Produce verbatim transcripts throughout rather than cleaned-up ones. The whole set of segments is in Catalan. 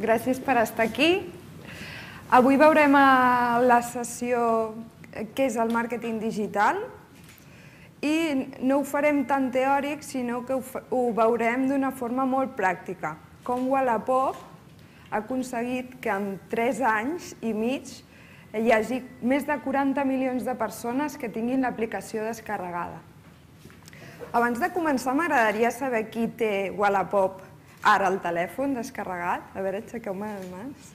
gràcies per estar aquí. Avui veurem a la sessió què és el màrqueting digital i no ho farem tan teòric, sinó que ho veurem d'una forma molt pràctica. Com Wallapop ha aconseguit que en tres anys i mig hi hagi més de quaranta milions de persones que tinguin l'aplicació descarregada. Abans de començar, m'agradaria saber qui té Wallapop ara al telèfon descarregat. A veure, aixequeu-me les mans.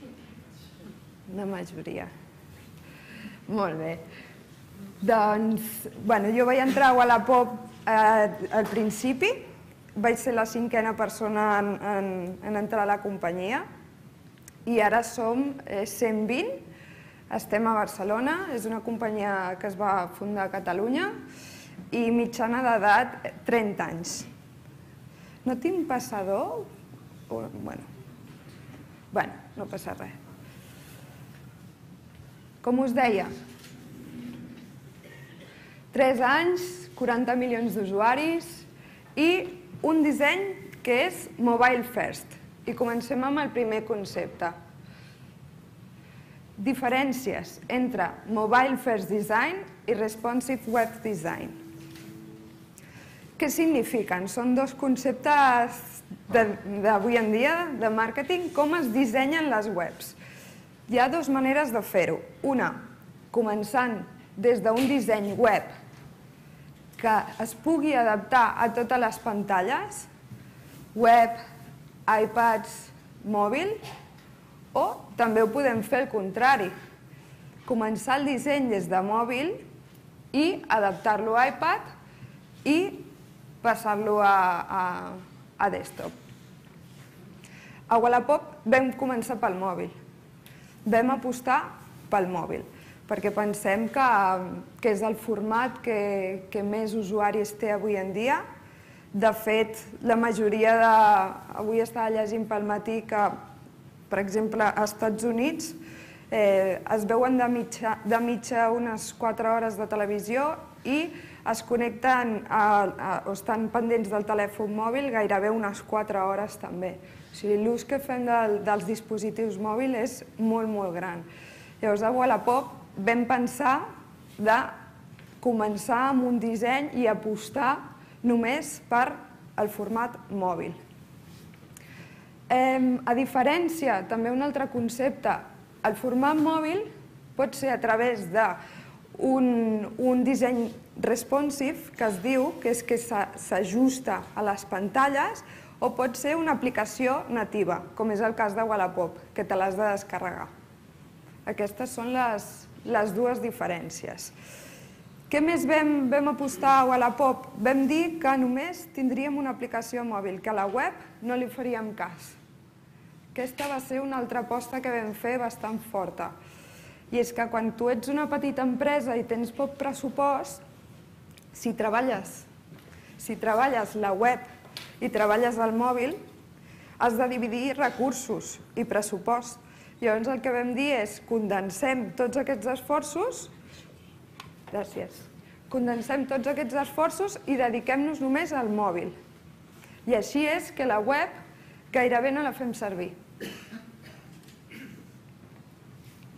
Una majoria. Molt bé. Doncs, bueno, jo vaig entrar a Wallapop al principi, vaig ser la cinquena persona en entrar a la companyia i ara som cent vint, estem a Barcelona, és una companyia que es va fundar a Catalunya i mitjana d'edat trenta anys. No tinc passador? Bueno, no passa res. Com us deia, tres anys, quaranta milions d'usuaris i un disseny que és mobile first. I comencem amb el primer concepte. Diferències entre mobile first design i responsive web design. Què signifiquen? Són dos conceptes d'avui en dia de màrqueting, com es dissenyen les webs. Hi ha dues maneres de fer-ho. Una, començant des d'un disseny web que es pugui adaptar a totes les pantalles, web, iPads, mòbil, o també ho podem fer al contrari. Començar el disseny des de mòbil i adaptar-lo a iPad i passar-lo a desktop. A Wallapop vam començar pel mòbil. Vam apostar pel mòbil, perquè pensem que és el format que més usuaris té avui en dia. De fet, la majoria de... Avui estava llegint pel matí que, per exemple, als Estats Units es veuen de mitja unes quatre hores de televisió i es connecten o estan pendents del telèfon mòbil gairebé unes quatre hores també. O sigui, l'ús que fem dels dispositius mòbils és molt, molt gran. Llavors, a Wallapop vam pensar de començar amb un disseny i apostar només per el format mòbil. A diferència, també un altre concepte, el format mòbil pot ser a través d'un disseny responsive, que es diu, que és que s'ajusta a les pantalles, o pot ser una aplicació nativa, com és el cas de Wallapop, que te l'has de descarregar. Aquestes són les dues diferències. Què més vam apostar a Wallapop? Vam dir que només tindríem una aplicació mòbil, que a la web no li faríem cas. Aquesta va ser una altra aposta que vam fer bastant forta. I és que quan tu ets una petita empresa i tens poc pressupost, si treballes si treballes la web i treballes el mòbil, has de dividir recursos i pressupost. Llavors el que vam dir és condensem tots aquests esforços gràcies condensem tots aquests esforços i dediquem-nos només al mòbil. I així és que la web gairebé no la fem servir.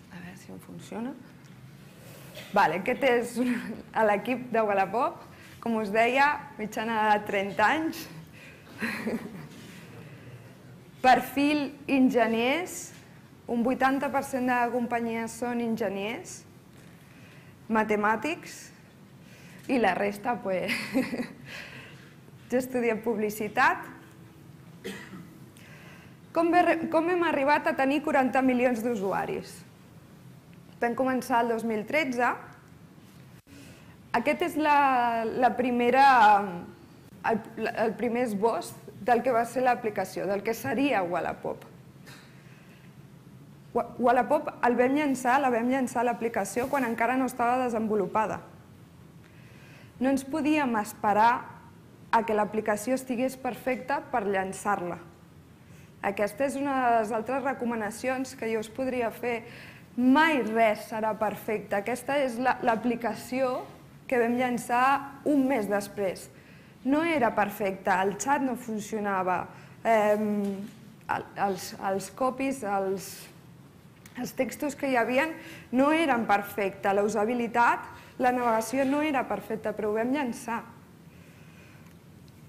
A veure si em funciona. Aquest és l'equip de Wallapop. Com us deia, mitjana de trenta anys. Perfil enginyers. Un vuitanta per cent de la companyia són enginyers, matemàtics, i la resta, doncs, jo estudio publicitat. Com hem arribat a tenir quaranta milions d'usuaris? Vam començar el dos mil tretze. Aquest és el primer esbós del que va ser l'aplicació, del que seria Wallapop. Wallapop el vam llançar, la vam llançar l'aplicació quan encara no estava desenvolupada. No ens podíem esperar a que l'aplicació estigués perfecta per llançar-la. Aquesta és una de les altres recomanacions que jo us podria fer. Mai res serà perfecte. Aquesta és l'aplicació que vam llançar un mes després. No era perfecta, el xat no funcionava, els, els copies, els, els textos que hi havia no eren perfectes. La usabilitat, la navegació no era perfecta, però ho vam llançar.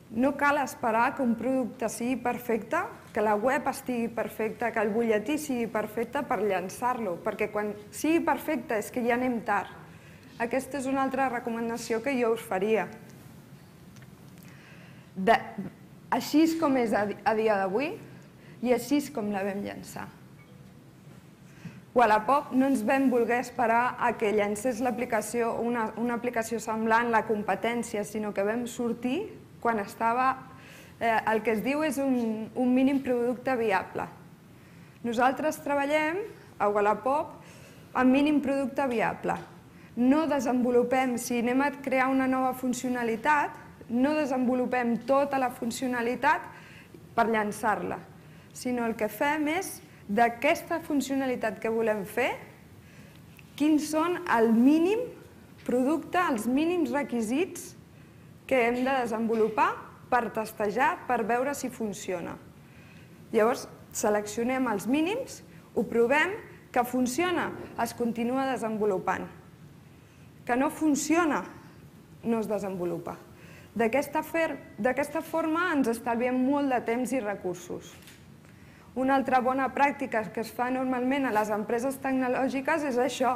No cal esperar que un producte sigui perfecte, que la web estigui perfecta, que el butlletí sigui perfecte per llançar-lo, perquè quan sigui perfecte és que ja anem tard. Aquesta és una altra recomanació que jo us faria. Així és com és a dia d'avui i així és com la vam llançar. Wallapop no ens vam voler esperar a que llancés l'aplicació, una aplicació semblant, la competència, sinó que vam sortir quan estava, el que es diu és un mínim producte viable. Nosaltres treballem a Wallapop amb mínim producte viable. No desenvolupem, si anem a crear una nova funcionalitat, no desenvolupem tota la funcionalitat per llançar-la, sinó el que fem és, d'aquesta funcionalitat que volem fer, quins són el mínim producte, els mínims requisits que hem de desenvolupar per testejar, per veure si funciona. Llavors, seleccionem els mínims, ho provem, que funciona, es continua desenvolupant. Que no funciona, no es desenvolupa. D'aquesta forma ens estalviem molt de temps i recursos. Una altra bona pràctica que es fa normalment a les empreses tecnològiques és això.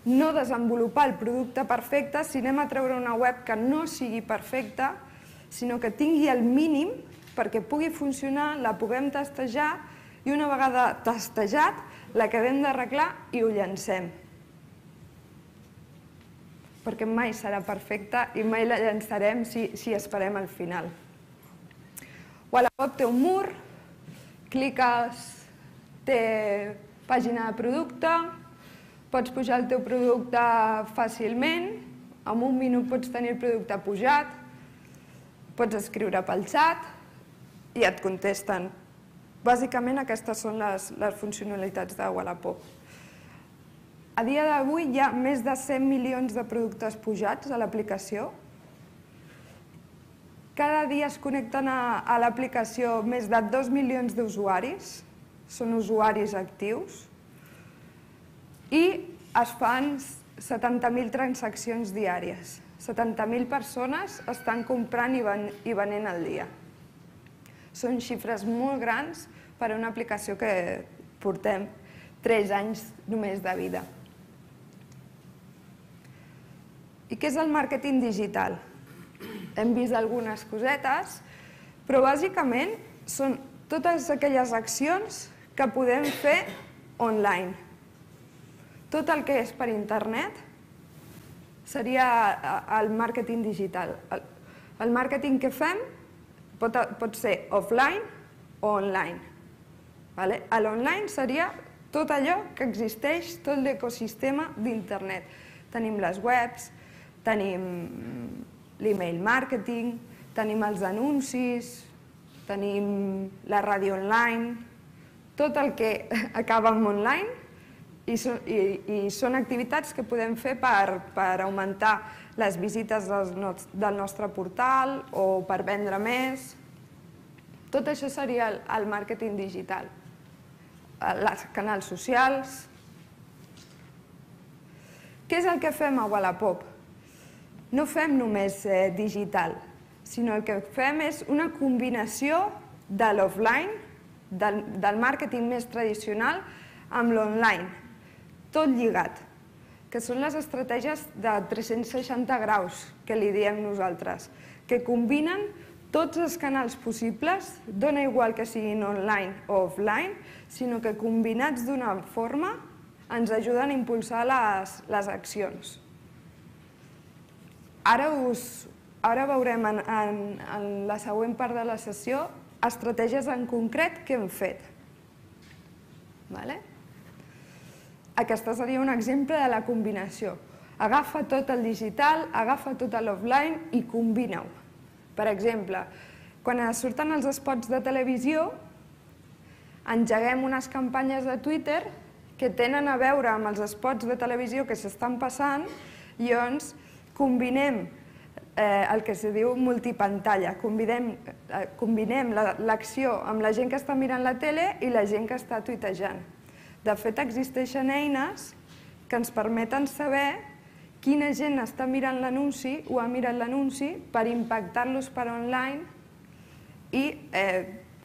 No desenvolupar el producte perfecte si anem a treure una web que no sigui perfecta, sinó que tingui el mínim perquè pugui funcionar, la puguem testejar i una vegada testejat l'acabem d'arreglar i ho llancem. Perquè mai serà perfecta i mai la llançarem si esperem al final. Wallapop té un mur, cliques, té pàgina de producte, pots pujar el teu producte fàcilment, en un minut pots tenir el producte pujat, pots escriure pel xat i et contesten. Bàsicament aquestes són les funcionalitats de Wallapop. A dia d'avui hi ha més de cent milions de productes pujats a l'aplicació. Cada dia es connecten a l'aplicació més de dos milions d'usuaris, són usuaris actius, i es fan setanta mil transaccions diàries. setanta mil persones estan comprant i venent al dia. Són xifres molt grans per a una aplicació que portem tres anys només de vida. I què és el màrqueting digital? Hem vist algunes cosetes, però bàsicament són totes aquelles accions que podem fer online. Tot el que és per internet seria el màrqueting digital. El màrqueting que fem pot ser offline o online. L'online seria tot allò que existeix, tot l'ecosistema d'internet. Tenim les webs, tenim l'email marketing, tenim els anuncis, tenim la ràdio online, tot el que acaba en online i són activitats que podem fer per augmentar les visites del nostre portal o per vendre més. Tot això seria el màrqueting digital. Els canals socials. Què és el que fem a Wallapop? No fem només digital, sinó el que fem és una combinació de l'offline, del màrqueting més tradicional, amb l'online, tot lligat, que són les estratègies de tres-cents seixanta graus, que li diem nosaltres, que combinen tots els canals possibles, dona igual que siguin online o offline, sinó que combinats d'una forma ens ajuden a impulsar les accions. Ara veurem en la següent part de la sessió estratègies en concret que hem fet. Aquesta seria un exemple de la combinació. Agafa tot el digital, agafa tot l'offline i combina-ho. Per exemple, quan surten els spots de televisió, engeguem unes campanyes de Twitter que tenen a veure amb els spots de televisió que s'estan passant i llavors combinem el que se diu multipantalla. Combinem l'acció amb la gent que està mirant la tele i la gent que està tuitejant. De fet, existeixen eines que ens permeten saber quina gent està mirant l'anunci o ha mirat l'anunci per impactar-los per online i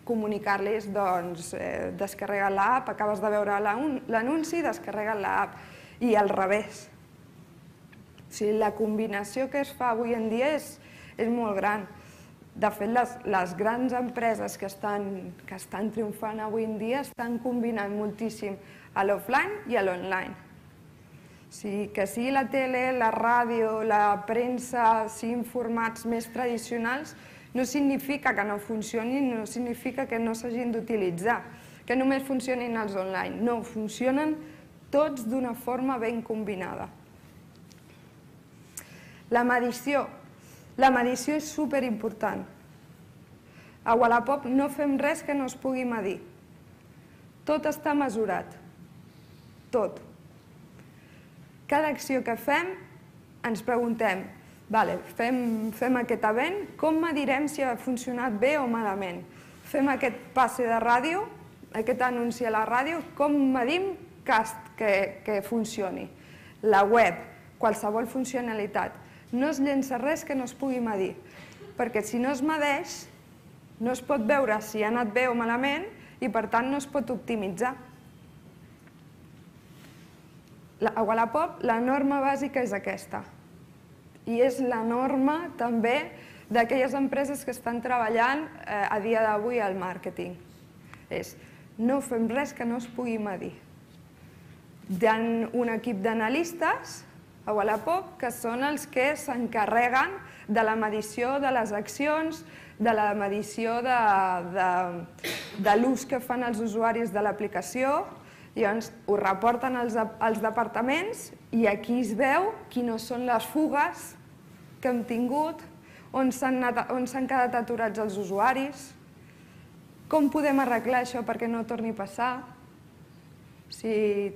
comunicar-los, doncs, descarrega l'app, acabes de veure l'anunci, descarrega l'app, i al revés. O sigui, la combinació que es fa avui en dia és molt gran. De fet, les grans empreses que estan triomfant avui en dia estan combinant moltíssim a l'offline i a l'online. O sigui, que sigui la tele, la ràdio, la premsa, siguin formats més tradicionals, no significa que no funcionin, no significa que no s'hagin d'utilitzar, que només funcionin els online. No, funcionen tots d'una forma ben combinada. La medició. La medició és superimportant. A Wallapop no fem res que no es pugui medir. Tot està mesurat. Tot. Cada acció que fem ens preguntem, vale, fem aquest event, com medirem si ha funcionat bé o malament? Fem aquest passe de ràdio, aquest anunci a la ràdio, com medim que funcioni? La web, qualsevol funcionalitat. No es llença res que no es pugui medir, perquè si no es medeix, no es pot veure si ha anat bé o malament i, per tant, no es pot optimitzar. A Wallapop la norma bàsica és aquesta i és la norma també d'aquelles empreses que estan treballant a dia d'avui al màrqueting. És, no fem res que no es pugui medir. Hi ha un equip d'analistes a Wallapop que són els que s'encarreguen de la medició de les accions, de la medició de l'ús que fan els usuaris de l'aplicació. Llavors, ho reporten als departaments i aquí es veu quines són les fugues que hem tingut, on s'han quedat aturats els usuaris, com podem arreglar això perquè no torni a passar. Hi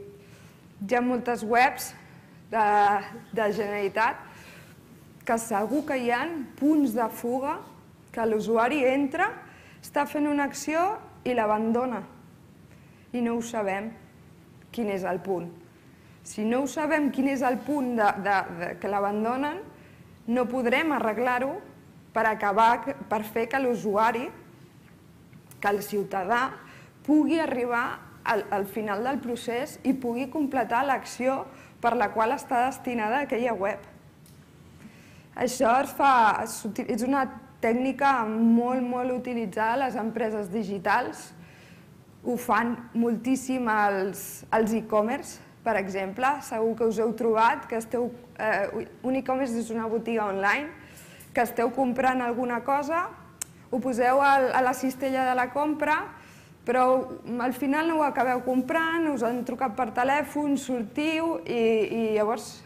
ha moltes webs de Generalitat que segur que hi ha punts de fuga que l'usuari entra, està fent una acció i l'abandona i no ho sabem. Quin és el punt. Si no ho sabem quin és el punt que l'abandonen, no podrem arreglar-ho per acabar, per fer que l'usuari, que el ciutadà, pugui arribar al final del procés i pugui completar l'acció per la qual està destinada aquella web. Això és una tècnica molt, molt utilitzada a les empreses digitals. Ho fan moltíssim els e-commerce, per exemple. Segur que us heu trobat que esteu... Un e-commerce és una botiga online, que esteu comprant alguna cosa, ho poseu a la cistella de la compra, però al final no ho acabeu comprant, us han trucat per telèfon, sortiu i llavors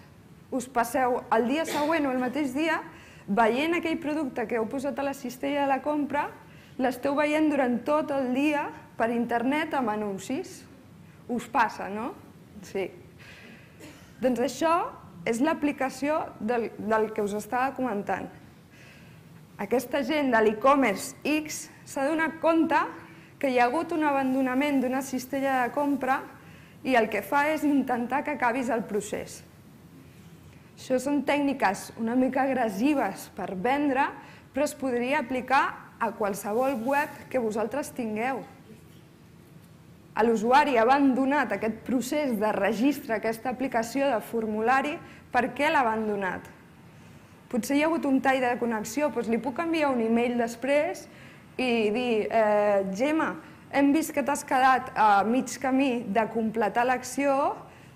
us passeu el dia següent o el mateix dia veient aquell producte que heu posat a la cistella de la compra, l'esteu veient durant tot el dia per internet amb anuncis. Us passa, no? Sí. Doncs això és l'aplicació del que us estava comentant. Aquesta gent de l'e-commerce X s'ha donat compte que hi ha hagut un abandonament d'una cistella de compra i el que fa és intentar que acabis el procés. Això són tècniques una mica agressives per vendre, però es podria aplicar a qualsevol web que vosaltres tingueu. L'usuari ha abandonat aquest procés de registre, aquesta aplicació de formulari, per què l'ha abandonat? Potser hi ha hagut un tall de connexió, doncs li puc enviar un e-mail després i dir, Gemma, hem vist que t'has quedat a mig camí de completar l'acció,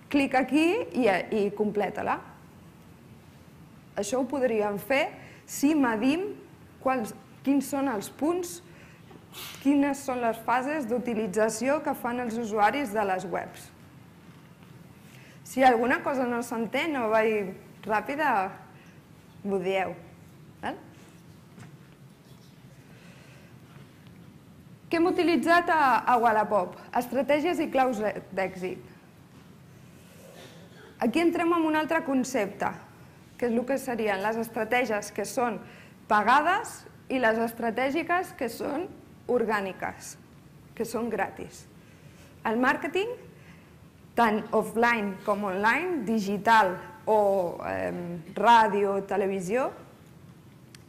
clica aquí i completa-la. Això ho podríem fer si medim quins són els punts, quines són les fases d'utilització que fan els usuaris de les webs. Si alguna cosa no s'entén o vaig ràpida, m'ho dieu. Què hem utilitzat a Wallapop? Estratègies i claus d'èxit. Aquí entrem en un altre concepte, que és el que serien les estratègies que són pagades i les estratègiques que són orgàniques, que són gratis. El màrqueting, tant offline com online, digital o eh, ràdio, televisió,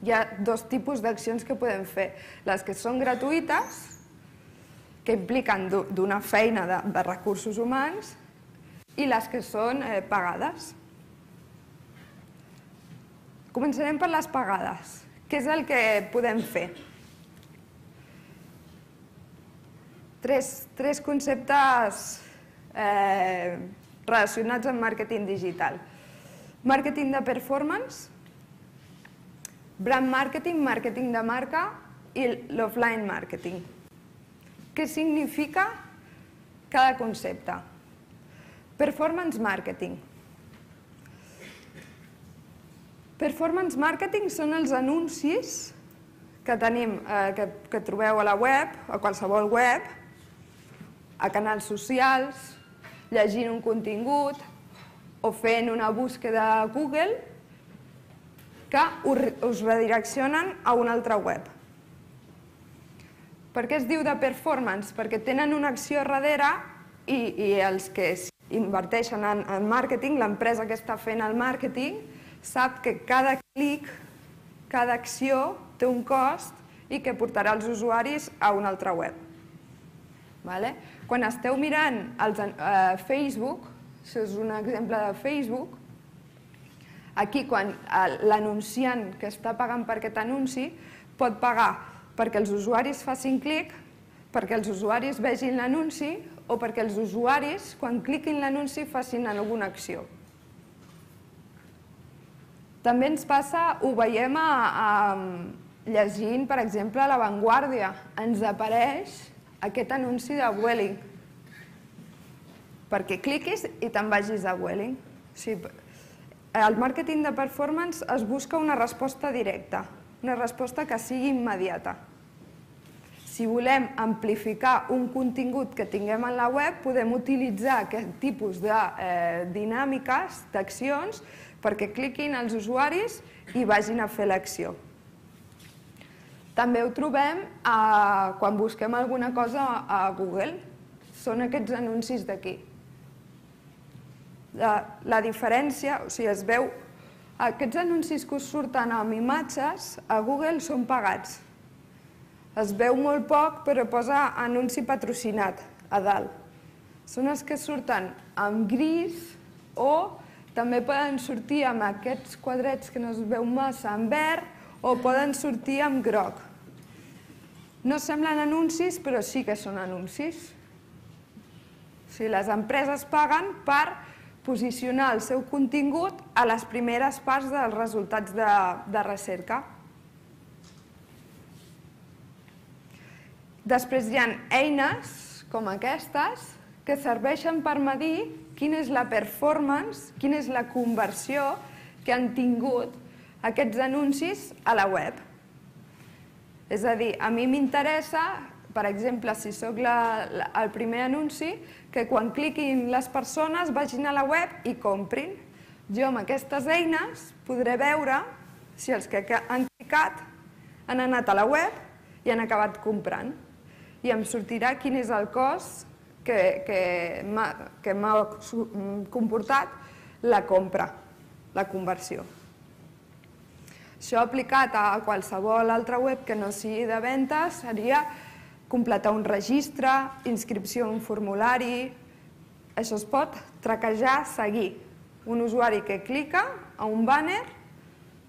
hi ha dos tipus d'accions que podem fer. Les que són gratuïtes, que impliquen d'una feina de, de recursos humans, i les que són eh, pagades. Començarem per les pagades. Què és el que podem fer? Tres, tres conceptes eh, relacionats amb màrqueting digital. Màrqueting de performance, brand marketing, màrqueting de marca i l'offline marketing. Què significa cada concepte? Performance marketing. Performance marketing són els anuncis que tenim, eh, que, que trobeu a la web, a qualsevol web, a canals socials, llegint un contingut o fent una búsqueda a Google que us redireccionen a una altra web. Per què es diu de performance? Perquè tenen una acció darrere i, i els que inverteixen en, en màrqueting, l'empresa que està fent el màrqueting, sap que cada clic, cada acció té un cost i que portarà els usuaris a una altra web. Vale? Quan esteu mirant els, eh, Facebook, això és un exemple de Facebook, aquí quan l'anunciant que està pagant per aquest anunci pot pagar perquè els usuaris facin clic, perquè els usuaris vegin l'anunci o perquè els usuaris, quan cliquin l'anunci, facin alguna acció. També ens passa, ho veiem a, a, llegint, per exemple, a La Vanguardia. Ens apareix aquest anunci de Vueling, perquè cliquis i te'n vagis a Vueling. O sigui, el màrqueting de performance es busca una resposta directa, una resposta que sigui immediata. Si volem amplificar un contingut que tinguem en la web, podem utilitzar aquest tipus de eh, dinàmiques, d'accions, perquè cliquin els usuaris i vagin a fer l'acció. També ho trobem a, quan busquem alguna cosa a Google. Són aquests anuncis d'aquí. La, la diferència, o sigui, es veu, aquests anuncis que us surten amb imatges a Google són pagats. Es veu molt poc, però posa anunci patrocinat a dalt. Són els que surten amb gris o també poden sortir amb aquests quadrets que no es veu massa en verd o poden sortir amb groc. No semblen anuncis, però sí que són anuncis. O sigui, les empreses paguen per posicionar el seu contingut a les primeres parts dels resultats de, de recerca. Després hi ha eines com aquestes que serveixen per medir quina és la performance, quina és la conversió que han tingut aquests anuncis a la web. És a dir, a mi m'interessa, per exemple, si soc el primer anunci, que quan cliquin les persones vagin a la web i comprin. Jo amb aquestes eines podré veure si els que han clicat han anat a la web i han acabat comprant. I em sortirà quin és el cost que, que m'ha comportat la compra, la conversió. Això aplicat a qualsevol altra web que no sigui de ventes seria completar un registre, inscripció en un formulari. Això es pot traquejar, seguir. Un usuari que clica a un banner,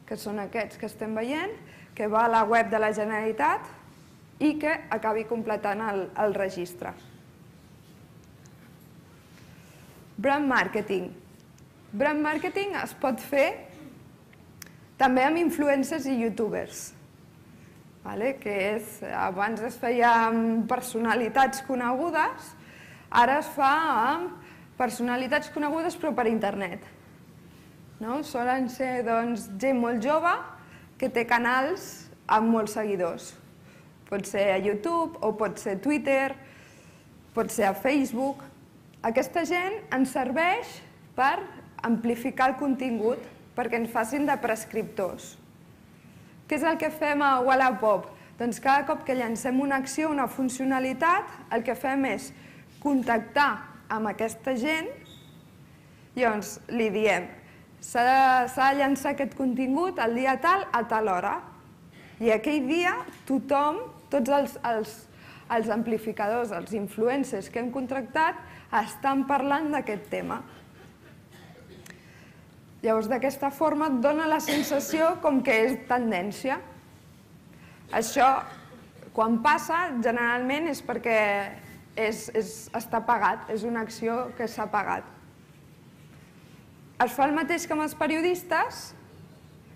que són aquests que estem veient, que va a la web de la Generalitat i que acabi completant el, el registre. Brand marketing. Brand marketing es pot fer també amb influencers i youtubers. Que és, abans es feia amb personalitats conegudes, ara es fa amb personalitats conegudes però per internet. Solen ser gent molt jove que té canals amb molts seguidors. Pot ser a YouTube o pot ser a Twitter, pot ser a Facebook. Aquesta gent ens serveix per amplificar el contingut, perquè ens facin de prescriptors. Què és el que fem a Wallapop? Doncs cada cop que llancem una acció, una funcionalitat, el que fem és contactar amb aquesta gent, llavors li diem s'ha de llançar aquest contingut el dia tal a tal hora. I aquell dia tothom, tots els, els, els amplificadors, els influencers que hem contractat, estan parlant d'aquest tema. Llavors, d'aquesta forma, et dona la sensació com que és tendència. Això, quan passa, generalment és perquè és, és, està pagat, és una acció que s'ha pagat. Es fa el mateix que amb els periodistes,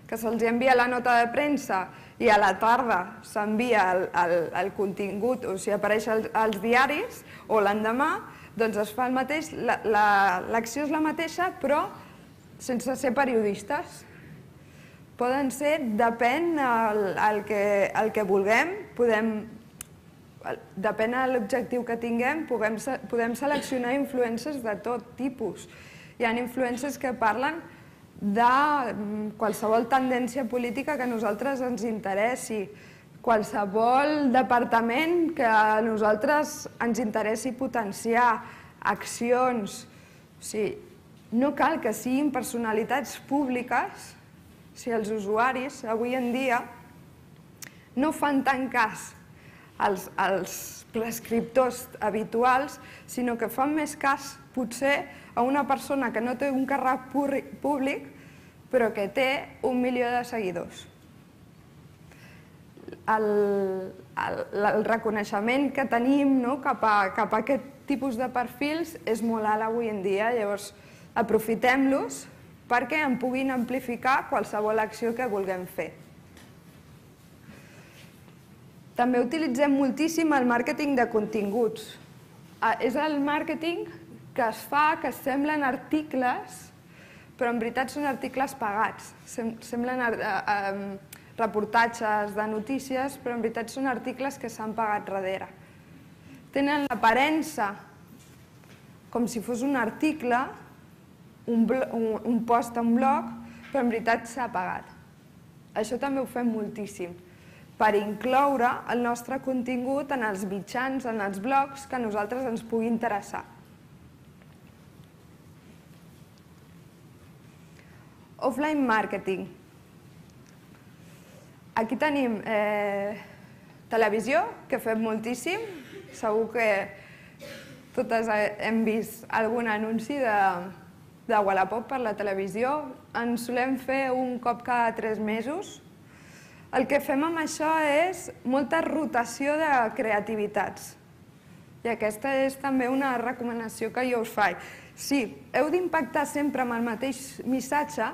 que se'ls envia la nota de premsa i a la tarda s'envia el, el, el contingut, o sigui, apareix als, als diaris, o l'endemà, doncs es fa el mateix, l'acció és la mateixa, però sense ser periodistes. Poden ser, depèn el, el, que, el que vulguem, podem, depèn de l'objectiu que tinguem, podem, podem seleccionar influencers de tot tipus. Hi ha influencers que parlen de qualsevol tendència política que a nosaltres ens interessi, qualsevol departament que a nosaltres ens interessi potenciar, accions. O sigui, no cal que siguin personalitats públiques si els usuaris avui en dia no fan tant cas als, als prescriptors habituals, sinó que fan més cas potser a una persona que no té un càrrec públic però que té un milió de seguidors. El, el, el reconeixement que tenim, no, cap, a, cap a aquest tipus de perfils és molt alt avui en dia, llavors aprofitem-los perquè en puguin amplificar qualsevol acció que vulguem fer. També utilitzem moltíssim el màrqueting de continguts. És el màrqueting que es fa, que semblen articles, però en veritat són articles pagats. Semblen reportatges de notícies, però en veritat són articles que s'han pagat darrere. Tenen l'aparença com si fos un article, un post en blog, però en veritat s'ha pagat. Això també ho fem moltíssim, per incloure el nostre contingut en els mitjans, en els blogs que a nosaltres ens pugui interessar. Offline marketing. Aquí tenim televisió, que fem moltíssim. Segur que totes hem vist algun anunci de Wallapop per la televisió. En solem fer un cop cada tres mesos. El que fem amb això és molta rotació de creativitats. I aquesta és també una recomanació que jo us faig. Si heu d'impactar sempre amb el mateix missatge,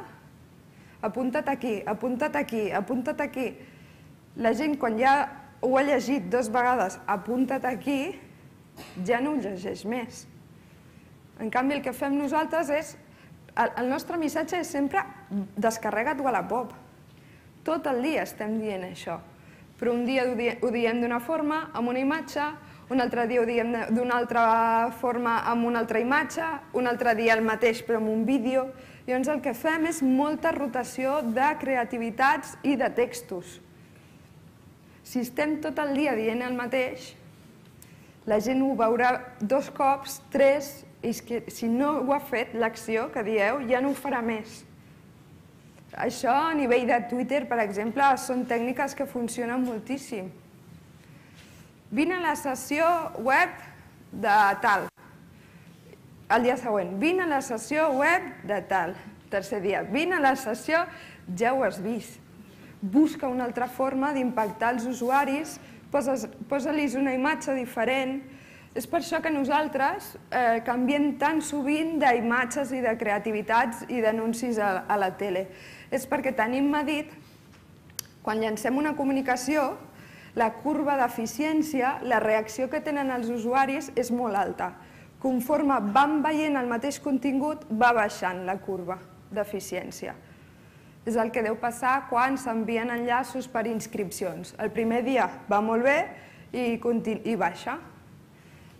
apunta't aquí, apunta't aquí, apunta't aquí. La gent, quan ja ho ha llegit dues vegades, apunta't aquí, ja no ho llegeix més. En canvi, el que fem nosaltres és... El nostre missatge és sempre descarrega't Wallapop. Tot el dia estem dient això. Però un dia ho diem d'una forma, amb una imatge, un altre dia ho diem d'una altra forma amb una altra imatge, un altre dia el mateix però amb un vídeo. Llavors el que fem és molta rotació de creativitats i de textos. Si estem tot el dia dient el mateix, la gent ho veurà dos cops, tres, i si no ho ha fet l'acció que dieu, ja no ho farà més. Això a nivell de Twitter, per exemple, són tècniques que funcionen moltíssim. Vine a la sessió web de tal. El dia següent, vine a la sessió web de tal. Tercer dia, vine a la sessió, ja ho has vist. Busca una altra forma d'impactar els usuaris, posa-los una imatge diferent. És per això que nosaltres canviem tan sovint d'imatges i de creativitats i d'anuncis a la tele. És perquè tenim medit, quan llancem una comunicació, la curva d'eficiència, la reacció que tenen els usuaris és molt alta. Conforme van veient el mateix contingut, va baixant la curva d'eficiència. És el que deu passar quan s'envien enllaços per inscripcions. El primer dia va molt bé i baixa.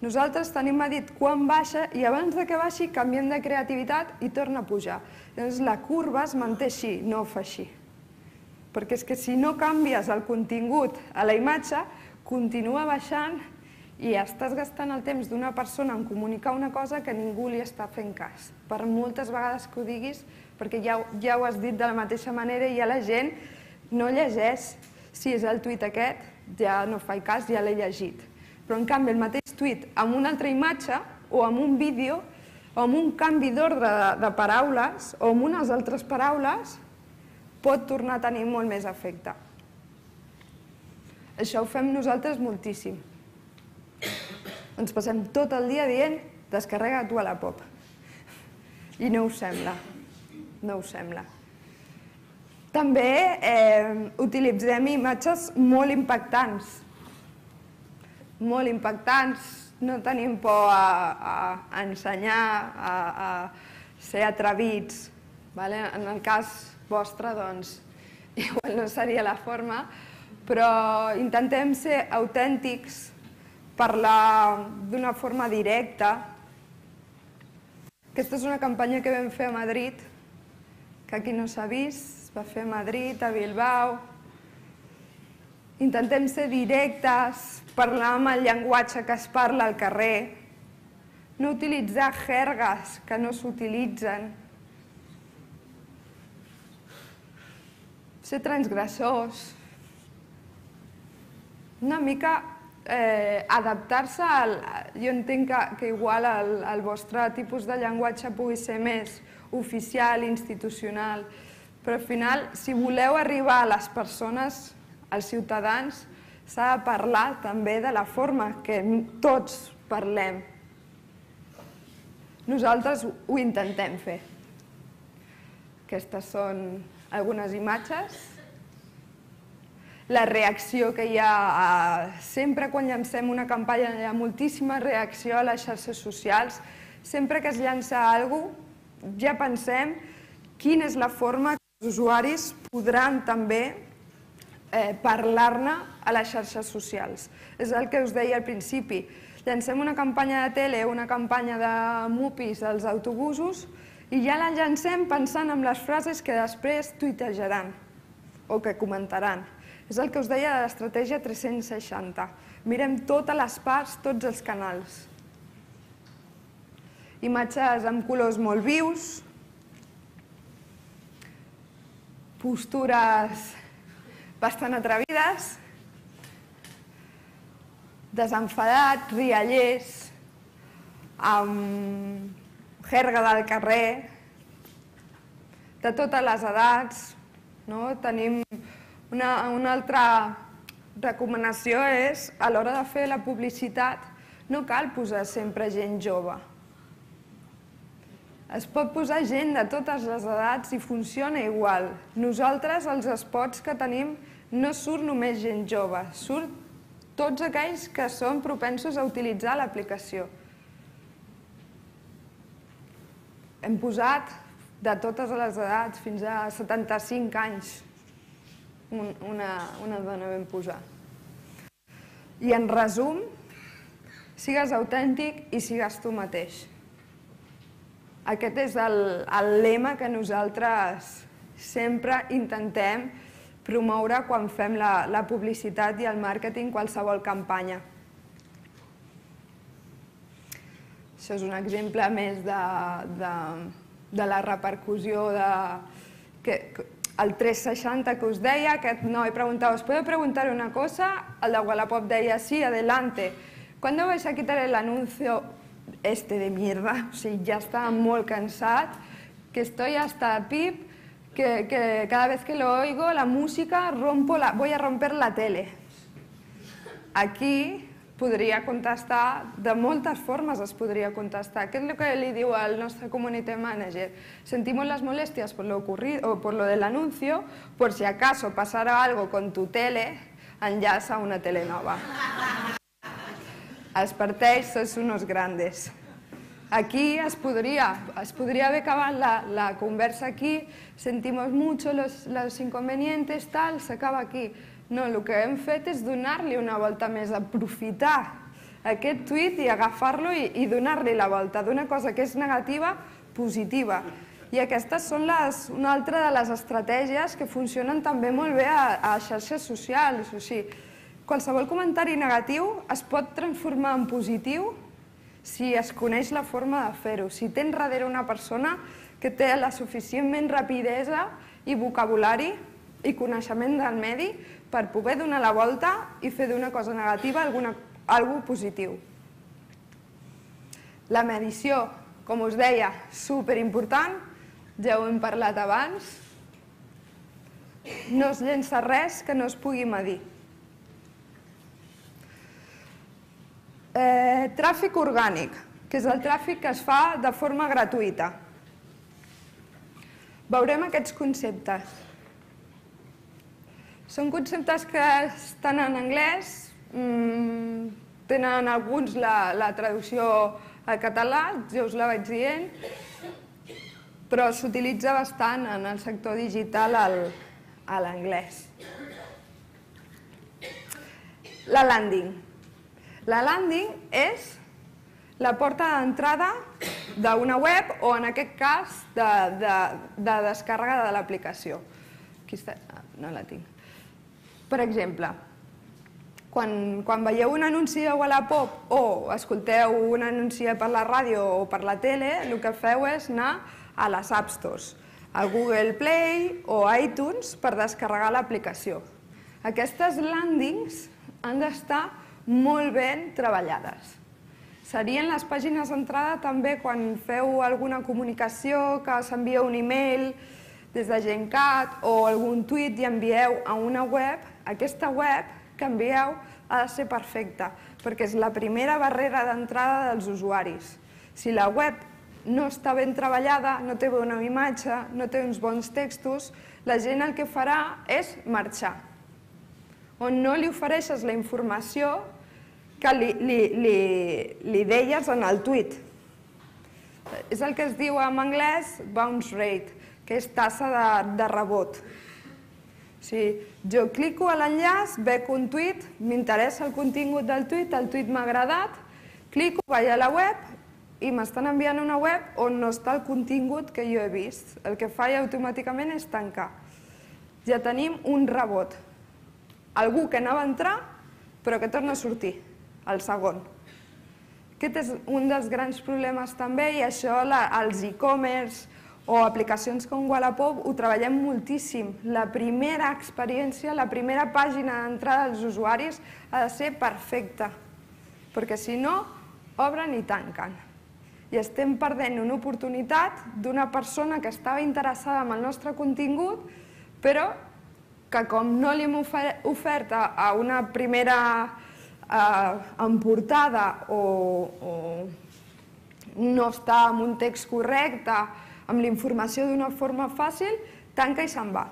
Nosaltres tenim medit quan baixa i abans que baixi canviem de creativitat i torna a pujar. Llavors la curva es manté així, no fa així. Perquè és que si no canvies el contingut a la imatge, continua baixant i estàs gastant el temps d'una persona en comunicar una cosa que ningú li està fent cas. Per moltes vegades que ho diguis, perquè ja, ja ho has dit de la mateixa manera i ja la gent no llegeix. Si és el tuit aquest, ja no faig cas, ja l'he llegit. Però en canvi el mateix tuit amb una altra imatge o amb un vídeo o amb un canvi d'ordre de, de paraules o amb unes altres paraules pot tornar a tenir molt més efecte. Això ho fem nosaltres moltíssim. Ens passem tot el dia dient descarrega tu a la pop. I no us sembla. No us sembla. També eh, utilitzem imatges molt impactants. Molt impactants. No tenim por a, a ensenyar, a, a ser atrevits. Vale? En el cas vostre, doncs, igual no seria la forma, però intentem ser autèntics, parlar d'una forma directa. Aquesta és una campanya que vam fer a Madrid, que aquí no s'ha vist, es va fer a Madrid, a Bilbao. Intentem ser directes, parlar amb el llenguatge que es parla al carrer, no utilitzar jergues que no s'utilitzen, ser transgressors, una mica eh, adaptar-se al... Jo entenc que, que igual el, el vostre tipus de llenguatge pugui ser més oficial, institucional, però al final, si voleu arribar a les persones, als ciutadans, s'ha de parlar també de la forma que tots parlem. Nosaltres ho intentem fer. Aquestes són algunes imatges. La reacció que hi ha, sempre quan llancem una campanya hi ha moltíssima reacció a les xarxes socials. Sempre que es llança alguna cosa, ja pensem quina és la forma que els usuaris podran també Eh, parlar-ne a les xarxes socials. És el que us deia al principi. Llancem una campanya de tele, una campanya de mupis als autobusos i ja la llancem pensant en les frases que després tuitejaran o que comentaran. És el que us deia de l'estratègia tres-cents seixanta. Mirem totes les parts, tots els canals. Imatges amb colors molt vius, postures bastant atrevides, desenfadats, riallers, amb jerga del carrer, de totes les edats. Tenim una altra recomanació, és a l'hora de fer la publicitat no cal posar sempre gent jove. Es pot posar gent de totes les edats i funciona igual. Nosaltres, els spots que tenim, no surt només gent jove, surt tots aquells que són propensos a utilitzar l'aplicació. Hem posat de totes les edats, fins a setanta-cinc anys, una dona vam posar. I en resum, sigues autèntic i sigues tu mateix. Aquest és el lema que nosaltres sempre intentem promoure quan fem la publicitat i el màrqueting, qualsevol campanya. Això és un exemple més de la repercussió del tres seixanta que us deia. Aquest noi preguntava, ¿os puedo preguntar una cosa? El de Wallapop deia, sí, adelante. ¿Cuándo vais a quitar el anuncio este de mierda? O sigui, ja estava molt cansat, que estoy hasta pip, que cada vez que lo oigo, la música, voy a romper la tele. Aquí podria contestar, de moltes formes es podria contestar. Què és el que li diu al nostre community manager? Sentimos las molestias por lo ocurrido o por lo del anuncio, por si acaso pasara algo con tu tele, enllaça una tele nova. Els parteix, sois unos grandes. Aquí es podria haver acabat la conversa aquí, sentimos mucho los inconvenientes, tal, s'acaba aquí. No, el que hem fet és donar-li una volta més, aprofitar aquest tuit i agafar-lo i donar-li la volta, d'una cosa que és negativa, positiva. I aquestes són una altra de les estratègies que funcionen també molt bé a xarxes socials. Qualsevol comentari negatiu es pot transformar en positiu si es coneix la forma de fer-ho, si tens darrere una persona que té la suficientment rapidesa i vocabulari i coneixement del medi per poder donar la volta i fer d'una cosa negativa alguna cosa positiu. La medició, com us deia, superimportant, ja ho hem parlat abans, no es llença res que no es pugui medir. Tràfic orgànic, que és el tràfic que es fa de forma gratuïta. Veurem aquests conceptes. Són conceptes que estan en anglès, tenen alguns la traducció al català, ja us la vaig dient, però s'utilitza bastant en el sector digital a l'anglès. La landing. La landing és la porta d'entrada d'una web o, en aquest cas, de descàrrega de l'aplicació. Aquí està, no la tinc. Per exemple, quan veieu un anunci de Wallapop o escolteu un anunci per la ràdio o per la tele, el que feu és anar a les App Stores, a Google Play o a iTunes per descarregar l'aplicació. Aquestes landings han d'estar molt ben treballades. Serien les pàgines d'entrada també quan feu alguna comunicació, que s'envia un e-mail des de Gencat o algun tuit i envieu a una web. Aquesta web que envieu ha de ser perfecta, perquè és la primera barrera d'entrada dels usuaris. Si la web no està ben treballada, no té bona imatge, no té uns bons textos, la gent el que farà és marxar. On no li ofereixes la informació que li deies en el tuit. És el que es diu en anglès bounce rate, que és tassa de rebot. Jo clico a l'enllaç, veig un tuit, m'interessa el contingut del tuit, el tuit m'ha agradat, clico, vaig a la web i m'estan enviant a una web on no està el contingut que jo he vist. El que fa automàticament és tancar. Ja tenim un rebot. Algú que anava a entrar, però que torna a sortir, el segon. Aquest és un dels grans problemes també, i això els e-commerce o aplicacions com Wallapop ho treballem moltíssim. La primera experiència, la primera pàgina d'entrada dels usuaris ha de ser perfecta, perquè si no, obren i tanquen. I estem perdent una oportunitat d'una persona que estava interessada en el nostre contingut, però que com no li hem ofert a una primera emportada o no està en un text correcte, amb la informació d'una forma fàcil, tanca i se'n va.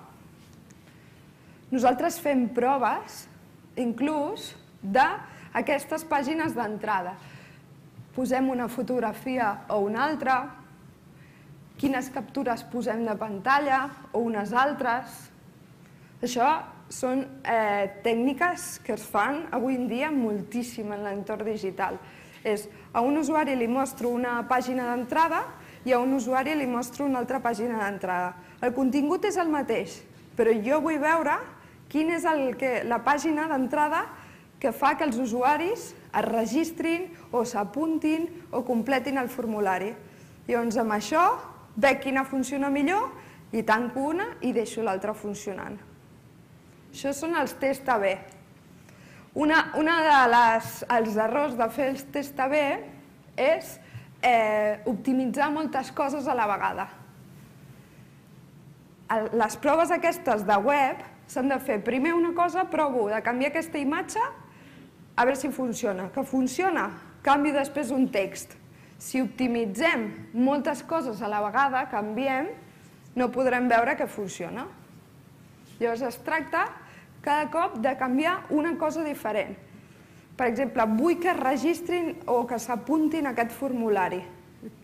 Nosaltres fem proves, inclús, d'aquestes pàgines d'entrada. Posem una fotografia o una altra, quines captures posem de pantalla o unes altres. Això són tècniques que es fan avui en dia moltíssim en l'entorn digital. A un usuari li mostro una pàgina d'entrada i a un usuari li mostro una altra pàgina d'entrada. El contingut és el mateix, però jo vull veure quina és la pàgina d'entrada que fa que els usuaris es registrin o s'apuntin o completin el formulari. Llavors, amb això, veig quina funciona millor i tanco una i deixo l'altra funcionant. Això són els test A B. Un dels errors de fer els test A B és optimitzar moltes coses a la vegada. Les proves aquestes de web s'han de fer primer una cosa, provo de canviar aquesta imatge, a veure si funciona. Que funciona, canvio després un text. Si optimitzem moltes coses a la vegada, canviem, no podrem veure que funciona. Llavors es tracta cada cop de canviar una cosa diferent. Per exemple, vull que es registrin o que s'apuntin a aquest formulari.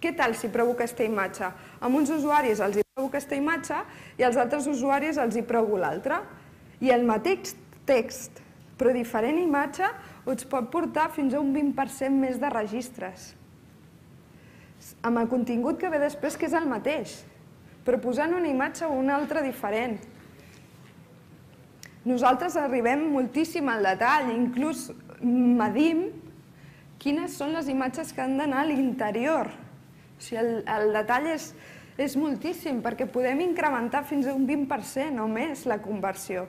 Què tal si provo aquesta imatge? A uns usuaris els hi provo aquesta imatge i als altres usuaris els hi provo l'altra. I el mateix text, però diferent imatge, us pot portar fins a un vint per cent més de registres. Amb el contingut que ve després, que és el mateix, però posant una imatge o una altra diferent. Nosaltres arribem moltíssim al detall, inclús medim quines són les imatges que han d'anar a l'interior. O sigui, el detall és moltíssim, perquè podem incrementar fins a un vint per cent o més la conversió.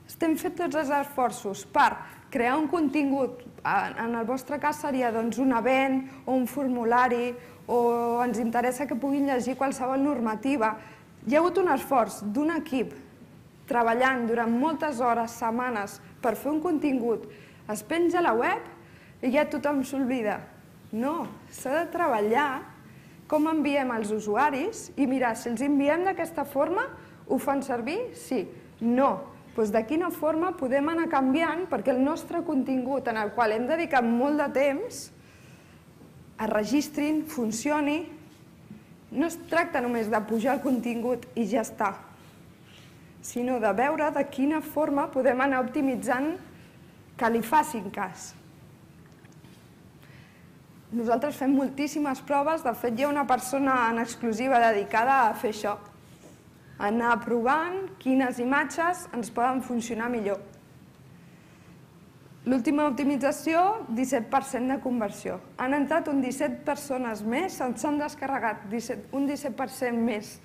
Estem fent tots els esforços per crear un contingut, en el vostre cas seria un event o un formulari, o ens interessa que puguin llegir qualsevol normativa. Hi ha hagut un esforç d'un equip treballant durant moltes hores, setmanes, per fer un contingut. Es penja a la web i ja tothom s'oblida. No, s'ha de treballar com enviem als usuaris i mirar, si els enviem d'aquesta forma, ho fan servir? Sí. No. Doncs de quina forma podem anar canviant perquè el nostre contingut, en el qual hem dedicat molt de temps, es registrin, funcioni. No es tracta només de pujar el contingut i ja està, sinó de veure de quina forma podem anar optimitzant que li facin cas. Nosaltres fem moltíssimes proves, de fet hi ha una persona en exclusiva dedicada a fer això, a anar provant quines imatges ens poden funcionar millor. L'última optimització, disset per cent de conversió. Han entrat un disset persones més, s'han descarregat un disset per cent més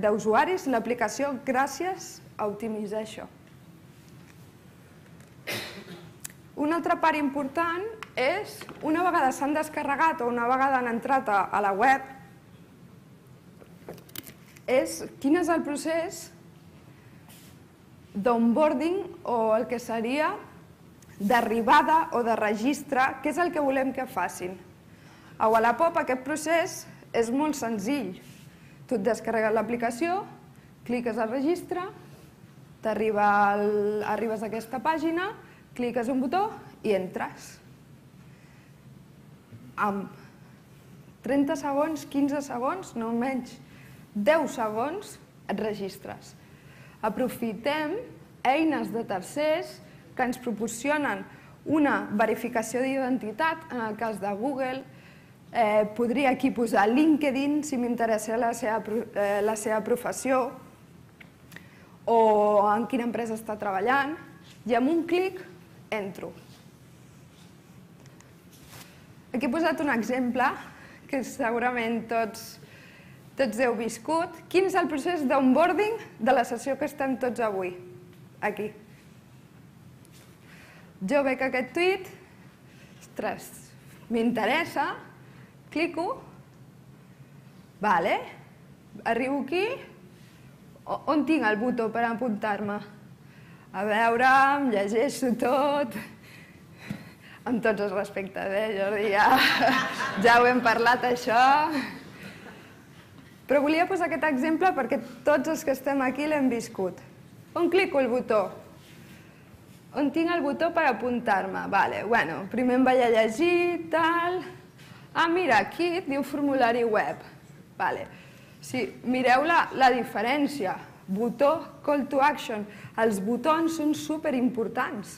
d'usuaris l'aplicació gràcies a optimitzar això. Una altra part important és, una vegada s'han descarregat o una vegada han entrat a la web, és quin és el procés d'onboarding o el que seria d'arribada o de registre, què és el que volem que facin. A Wallapop aquest procés és molt senzill. Tu et descarregues l'aplicació, cliques al registre, arribes a aquesta pàgina, cliques un botó i entres. Amb trenta segons, quinze segons, no menys, deu segons et registres. Aprofitem eines de tercers que ens proporcionen una verificació d'identitat, en el cas de Google. Podria aquí posar LinkedIn, si m'interessa la seva professió o en quina empresa està treballant, i amb un clic entro. Aquí he posat un exemple que segurament tots heu viscut. Quin és el procés d'onboarding de la sessió que estem tots avui? Aquí. Jo veig aquest tuit, ostres, m'interessa, clico, vale, arribo aquí, on tinc el botó per apuntar-me? A veure, em llegeixo tot, amb tots els respectes, eh, Jordi, ja ho hem parlat, això. Però volia posar aquest exemple perquè tots els que estem aquí l'hem viscut. On clico el botó? On tinc el botó per apuntar-me? Vale, bueno, primer em vaig a llegir, tal... Ah, mira, aquí et diu formulari web. Vale. Sí, mireu la diferència. Botó, call to action. Els botons són superimportants.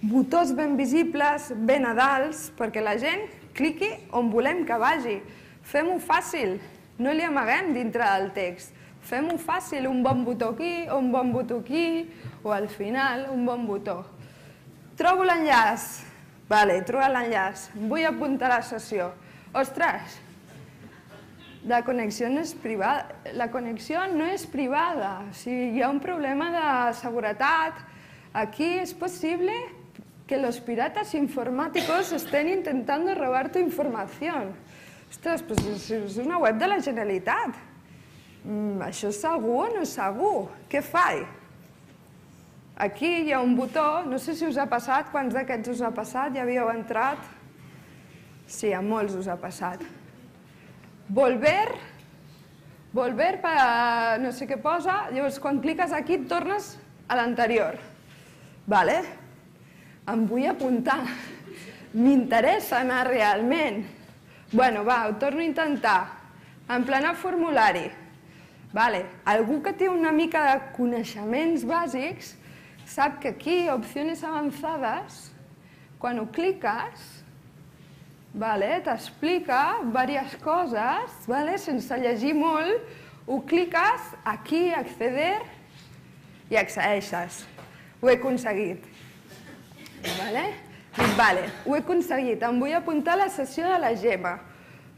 Botons ben visibles, ben a dalt, perquè la gent cliqui on volem que vagi. Fem-ho fàcil. No li amaguem dintre del text. Fem-ho fàcil, un bon botó aquí, un bon botó aquí, o al final un bon botó. Trobo l'enllaç. Vale, he trobat l'enllaç. Vull apuntar a la sessió. Ostres, la connexió no és privada. La connexió no és privada. O sigui, hi ha un problema de seguretat. Aquí és possible que los piratas informáticos estén intentando robar tu información. Ostres, però és una web de la Generalitat. Això és segur o no és segur? Què faig? Aquí hi ha un botó, no sé si us ha passat, quants d'aquests us ha passat, ja havíeu entrat? Sí, a molts us ha passat. Volver, volver per no sé què posa, llavors quan cliques aquí et tornes a l'anterior. Vale? Em vull apuntar. M'interessa anar realment. Bueno, va, ho torno a intentar. Emplenar formulari. Vale. Algú que té una mica de coneixements bàsics sap que aquí, opcions avançades, quan ho cliques, t'explica diverses coses, sense llegir molt, ho cliques, aquí, acceder, i accedeixes. Ho he aconseguit. Vale, ho he aconseguit. Em vull apuntar a la sessió de la Gemma.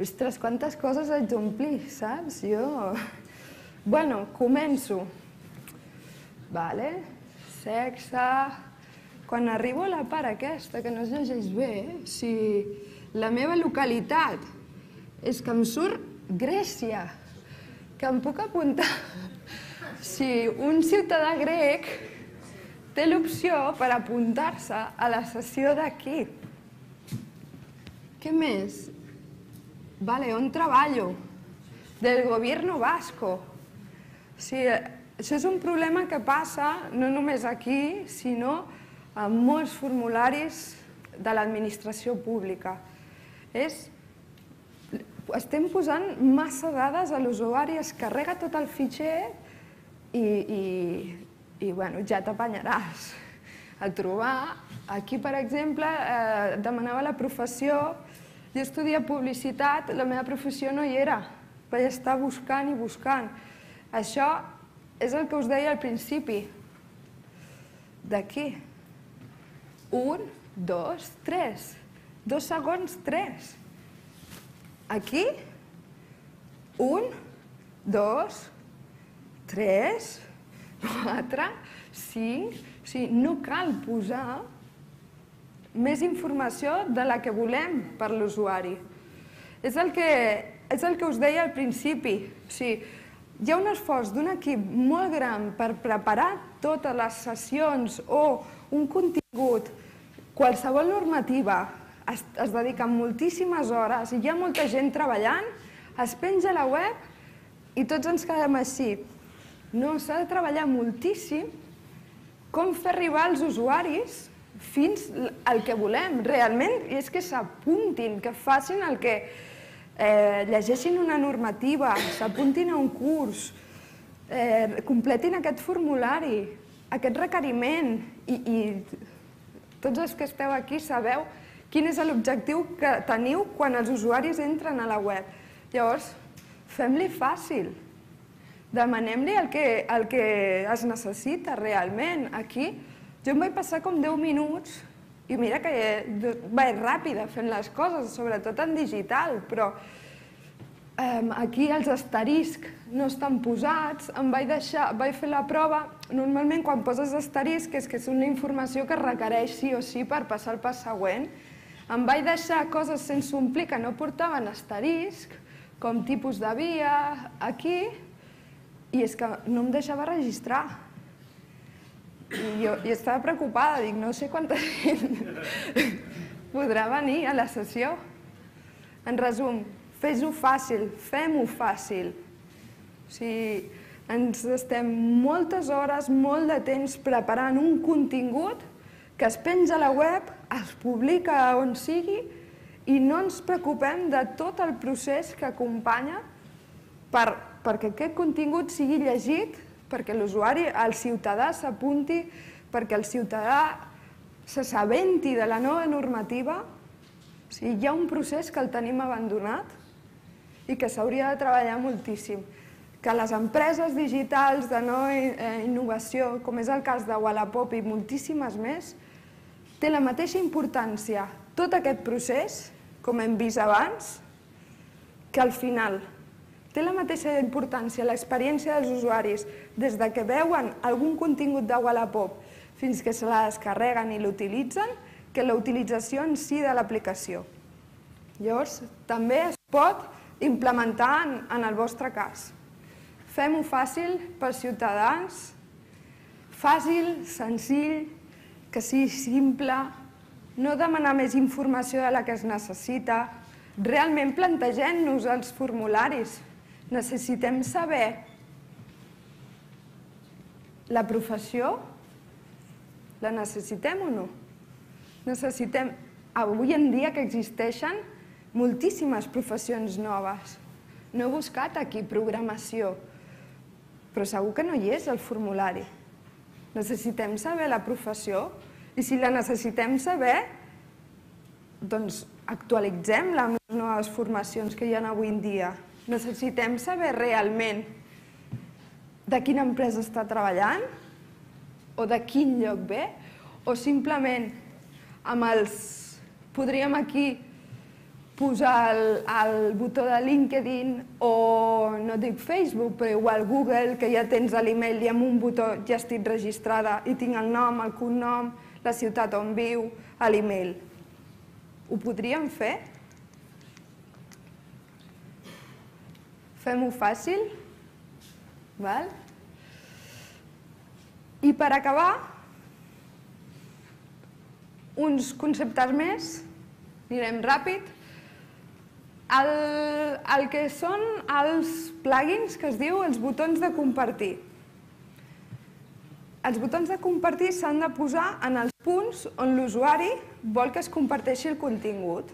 Ostres, quantes coses haig d'omplir, saps? Jo... Bueno, començo. Vale, sexe... Quan arribo a la part aquesta, que no es llegeix bé, si la meva localitat és que em surt Grècia, que em puc apuntar. Si un ciutadà grec té l'opció per apuntar-se a la sessió d'aquí. Què més? Vale, on treballo? Del gobierno vasco. Sí, això és un problema que passa no només aquí, sinó en molts formularis de l'administració pública. Estem posant massa dades a l'usuari, es carrega tot el fitxer i ja t'apanyaràs a trobar. Aquí, per exemple, demanava la professió. Jo estudia publicitat, la meva professió no hi era. Vaig estar buscant i buscant. Això és el que us deia al principi. D'aquí. Un, dos, tres. Dos segons, tres. Aquí. Un, dos, tres, quatre, cinc... O sigui, no cal posar més informació de la que volem per l'usuari. És el que us deia al principi. O sigui, hi ha un esforç d'un equip molt gran per preparar totes les sessions o un contingut. Qualsevol normativa es dedica moltíssimes hores i hi ha molta gent treballant, es penja a la web i tots ens quedem així. No, s'ha de treballar moltíssim com fer arribar als usuaris fins al que volem realment, i és que s'apuntin, que facin el que llegeixin una normativa, s'apuntin a un curs, completin aquest formulari, aquest requeriment, i tots els que esteu aquí sabeu quin és l'objectiu que teniu quan els usuaris entren a la web. Llavors, fem-li fàcil. Demanem-li el que es necessita realment. Aquí jo em vaig passar com deu minuts i mira que vaig ràpida fent les coses, sobretot en digital, però aquí els asteriscs no estan posats, em vaig deixar, vaig fer la prova. Normalment quan poses asterisc és que és una informació que es requereix sí o sí per passar al pas següent. Em vaig deixar coses sense omplir que no portaven asterisc, com tipus de via, aquí, i és que no em deixava registrar. I jo estava preocupada, dic, no sé quanta gent podrà venir a la sessió. En resum, fes-ho fàcil, fem-ho fàcil. O sigui, ens estem moltes hores, molt de temps preparant un contingut que es penja a la web, es publica on sigui i no ens preocupem de tot el procés que acompanya perquè aquest contingut sigui llegit, perquè l'usuari, el ciutadà s'apunti, perquè el ciutadà s'assabenti de la nova normativa. O sigui, hi ha un procés que el tenim abandonat i que s'hauria de treballar moltíssim. Que les empreses digitals de nova innovació, com és el cas de Wallapop i moltíssimes més, té la mateixa importància tot aquest procés, com hem vist abans, que al final. Té la mateixa importància l'experiència dels usuaris des que veuen algun contingut de Wallapop fins que se la descarreguen i l'utilitzen, que la utilització en si de l'aplicació. Llavors, també es pot implementar en el vostre cas. Fem-ho fàcil pels ciutadans, fàcil, senzill, que sigui simple, no demanar més informació de la que es necessita, realment plantegem-nos els formularis. Necessitem saber la professió, la necessitem o no? Necessitem, avui en dia que existeixen moltíssimes professions noves. No he buscat aquí programació, però segur que no hi és el formulari. Necessitem saber la professió i si la necessitem saber, doncs actualitzem-la amb les noves formacions que hi ha avui en dia. Necessitem saber realment de quina empresa està treballant o de quin lloc ve, o simplement amb els... podríem aquí posar el, el botó de LinkedIn o, no dic Facebook, però igual Google, que ja tens l'email i amb un botó ja estic registrada i tinc el nom, el cognom, la ciutat on viu, l'email. Ho podríem fer? Fem-ho fàcil? Val? I per acabar, uns conceptes més, anirem ràpid. El, el que són els plugins, que es diu els botons de compartir. Els botons de compartir s'han de posar en els punts on l'usuari vol que es comparteixi el contingut.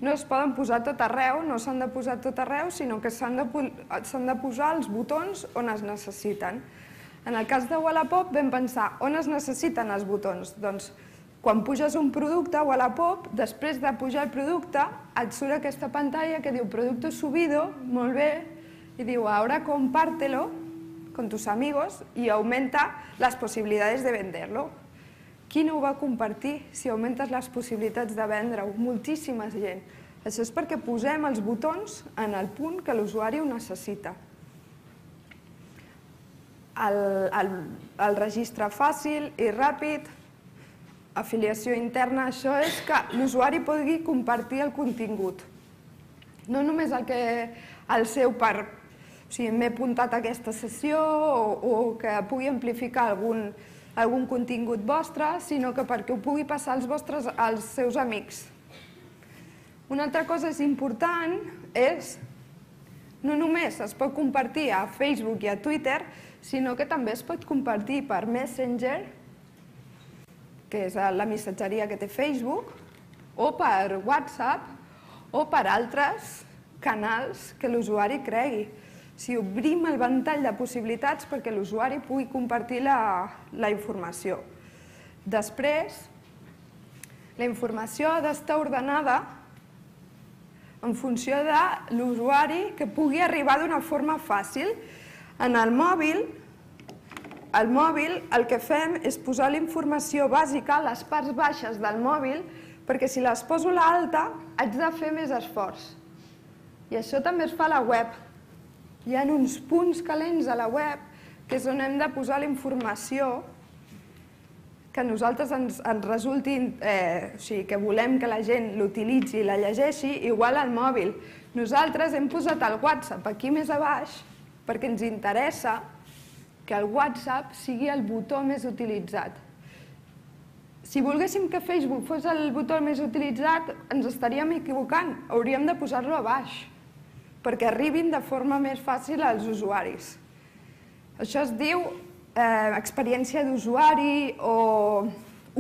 No es poden posar tot arreu, no s'han de posar tot arreu, sinó que s'han de, s'han de posar els botons on es necessiten. En el cas de Wallapop vam pensar on es necessiten els botons. Doncs quan puges un producte a Wallapop, després de pujar el producte, et surt aquesta pantalla que diu producto subido, molt bé, i diu ahora compártelo con tus amigos y aumenta las posibilidades de venderlo. Qui no ho va compartir si augmentes les possibilitats de vendre-ho? Moltíssima gent. Això és perquè posem els botons en el punt que l'usuari ho necessita. El, el, el registre fàcil i ràpid, afiliació interna, això és que l'usuari pugui compartir el contingut. No només el que el seu per... O sigui, m'he apuntat a aquesta sessió o, o que pugui amplificar algun, algun contingut vostre, sinó que perquè ho pugui passar als vostres, als seus amics. Una altra cosa és important és no només es pot compartir a Facebook i a Twitter, sinó que també es pot compartir per Messenger, que és la missatgeria que té Facebook, o per WhatsApp, o per altres canals que l'usuari cregui. Si obrim el ventall de possibilitats perquè l'usuari pugui compartir la, la informació. Després, la informació ha d'estar ordenada en funció de l'usuari que pugui arribar d'una forma fàcil. En el mòbil, el mòbil el que fem és posar la informació bàsica a les parts baixes del mòbil perquè si les poso a l'alta haig de fer més esforç. I això també es fa a la web. Hi ha uns punts calents a la web que és on hem de posar la informació que a nosaltres ens, ens resulti, eh, o sigui, que volem que la gent l'utilitzi i la llegeixi, igual al mòbil. Nosaltres hem posat el WhatsApp aquí més a baix perquè ens interessa que el WhatsApp sigui el botó més utilitzat. Si volguéssim que Facebook fos el botó més utilitzat, ens estaríem equivocant, hauríem de posar-lo a baix, perquè arribin de forma més fàcil als usuaris. Això es diu eh, experiència d'usuari o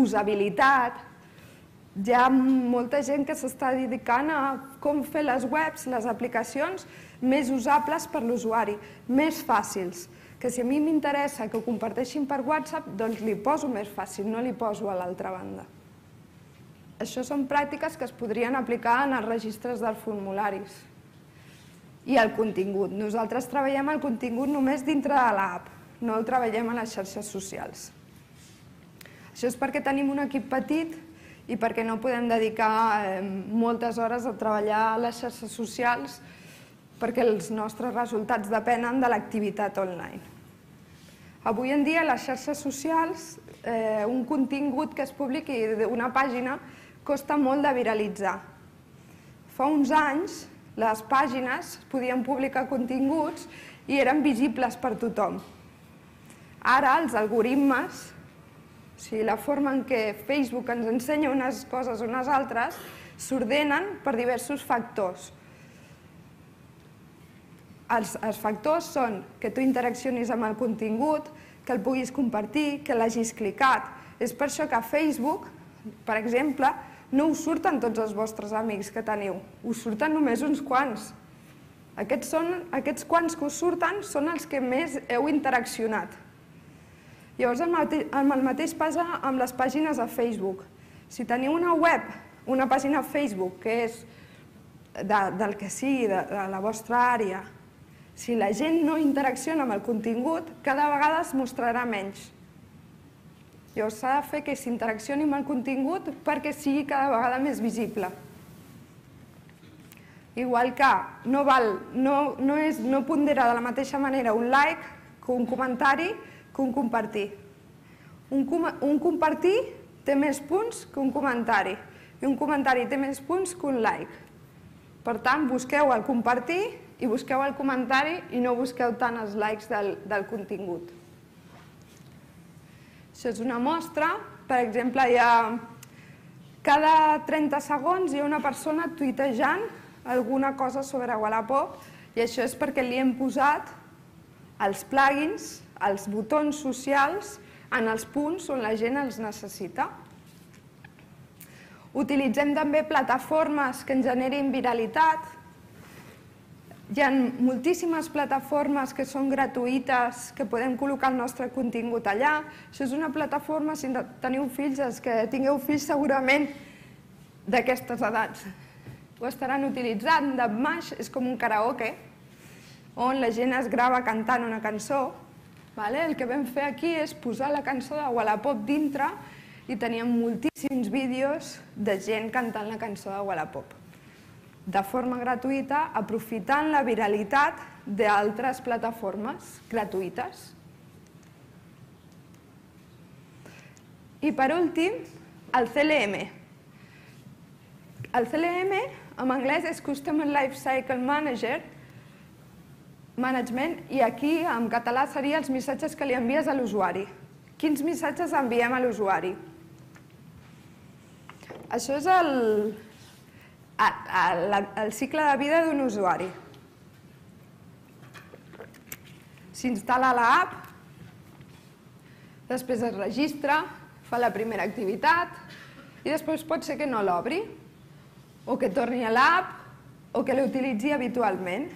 usabilitat. Hi ha molta gent que s'està dedicant a com fer les webs, les aplicacions, més usables per l'usuari, més fàcils. Que si a mi m'interessa que ho comparteixin per WhatsApp, doncs li poso més fàcil, no li poso a l'altra banda. Això són pràctiques que es podrien aplicar en els registres dels formularis. I el contingut. Nosaltres treballem el contingut només dintre de l'app, no el treballem a les xarxes socials. Això és perquè tenim un equip petit i perquè no podem dedicar moltes hores a treballar a les xarxes socials perquè els nostres resultats depenen de l'activitat online. Avui en dia, a les xarxes socials, un contingut que es publiqui d'una pàgina costa molt de viralitzar. Fa uns anys, les pàgines podien publicar continguts i eren visibles per tothom. Ara, els algoritmes, o sigui, la forma en què Facebook ens ensenya unes coses o unes altres, s'ordenen per diversos factors. Els, els factors són que tu interaccionis amb el contingut, que el puguis compartir, que l'hagis clicat. És per això que a Facebook, per exemple, no us surten tots els vostres amics que teniu, us surten només uns quants. Aquests, són, aquests quants que us surten són els que més heu interaccionat. Llavors, el mateix passa amb les pàgines a Facebook. Si teniu una web, una pàgina a Facebook, que és del que sigui, de la vostra àrea, si la gent no interacciona amb el contingut, cada vegada es mostrarà menys. Llavors, s'ha de fer que s'interaccioni amb el contingut perquè sigui cada vegada més visible. Igual que no pondera de la mateixa manera un like que un comentari que un compartir. Un compartir té més punts que un comentari i un comentari té més punts que un like. Per tant, busqueu el compartir i busqueu el comentari i no busqueu tant els likes del contingut. Això és una mostra. Per exemple, cada trenta segons hi ha una persona tuitejant alguna cosa sobre Wallapop i això és perquè li hem posat els plugins, els botons socials, en els punts on la gent els necessita. Utilitzem també plataformes que ens generin viralitat. Hi ha moltíssimes plataformes que són gratuïtes, que podem col·locar el nostre contingut allà. Això és una plataforma, si teniu fills, els que tingueu fills segurament d'aquestes edats ho estaran utilitzant. Dubmash és com un karaoke, on la gent es grava cantant una cançó. El que vam fer aquí és posar la cançó de Wallapop dintre i teníem moltíssims vídeos de gent cantant la cançó de Wallapop de forma gratuïta, aprofitant la viralitat d'altres plataformes gratuïtes. I per últim, el C L M. El C L M en anglès és Customer Lifecycle Manager, Management, i aquí en català serien els missatges que li envies a l'usuari. Quins missatges enviem a l'usuari? Això és el cicle de vida d'un usuari. S'instal·la l'app, després es registra, fa la primera activitat i després pot ser que no l'obri, o que torni a l'app, o que l'utilitzi habitualment.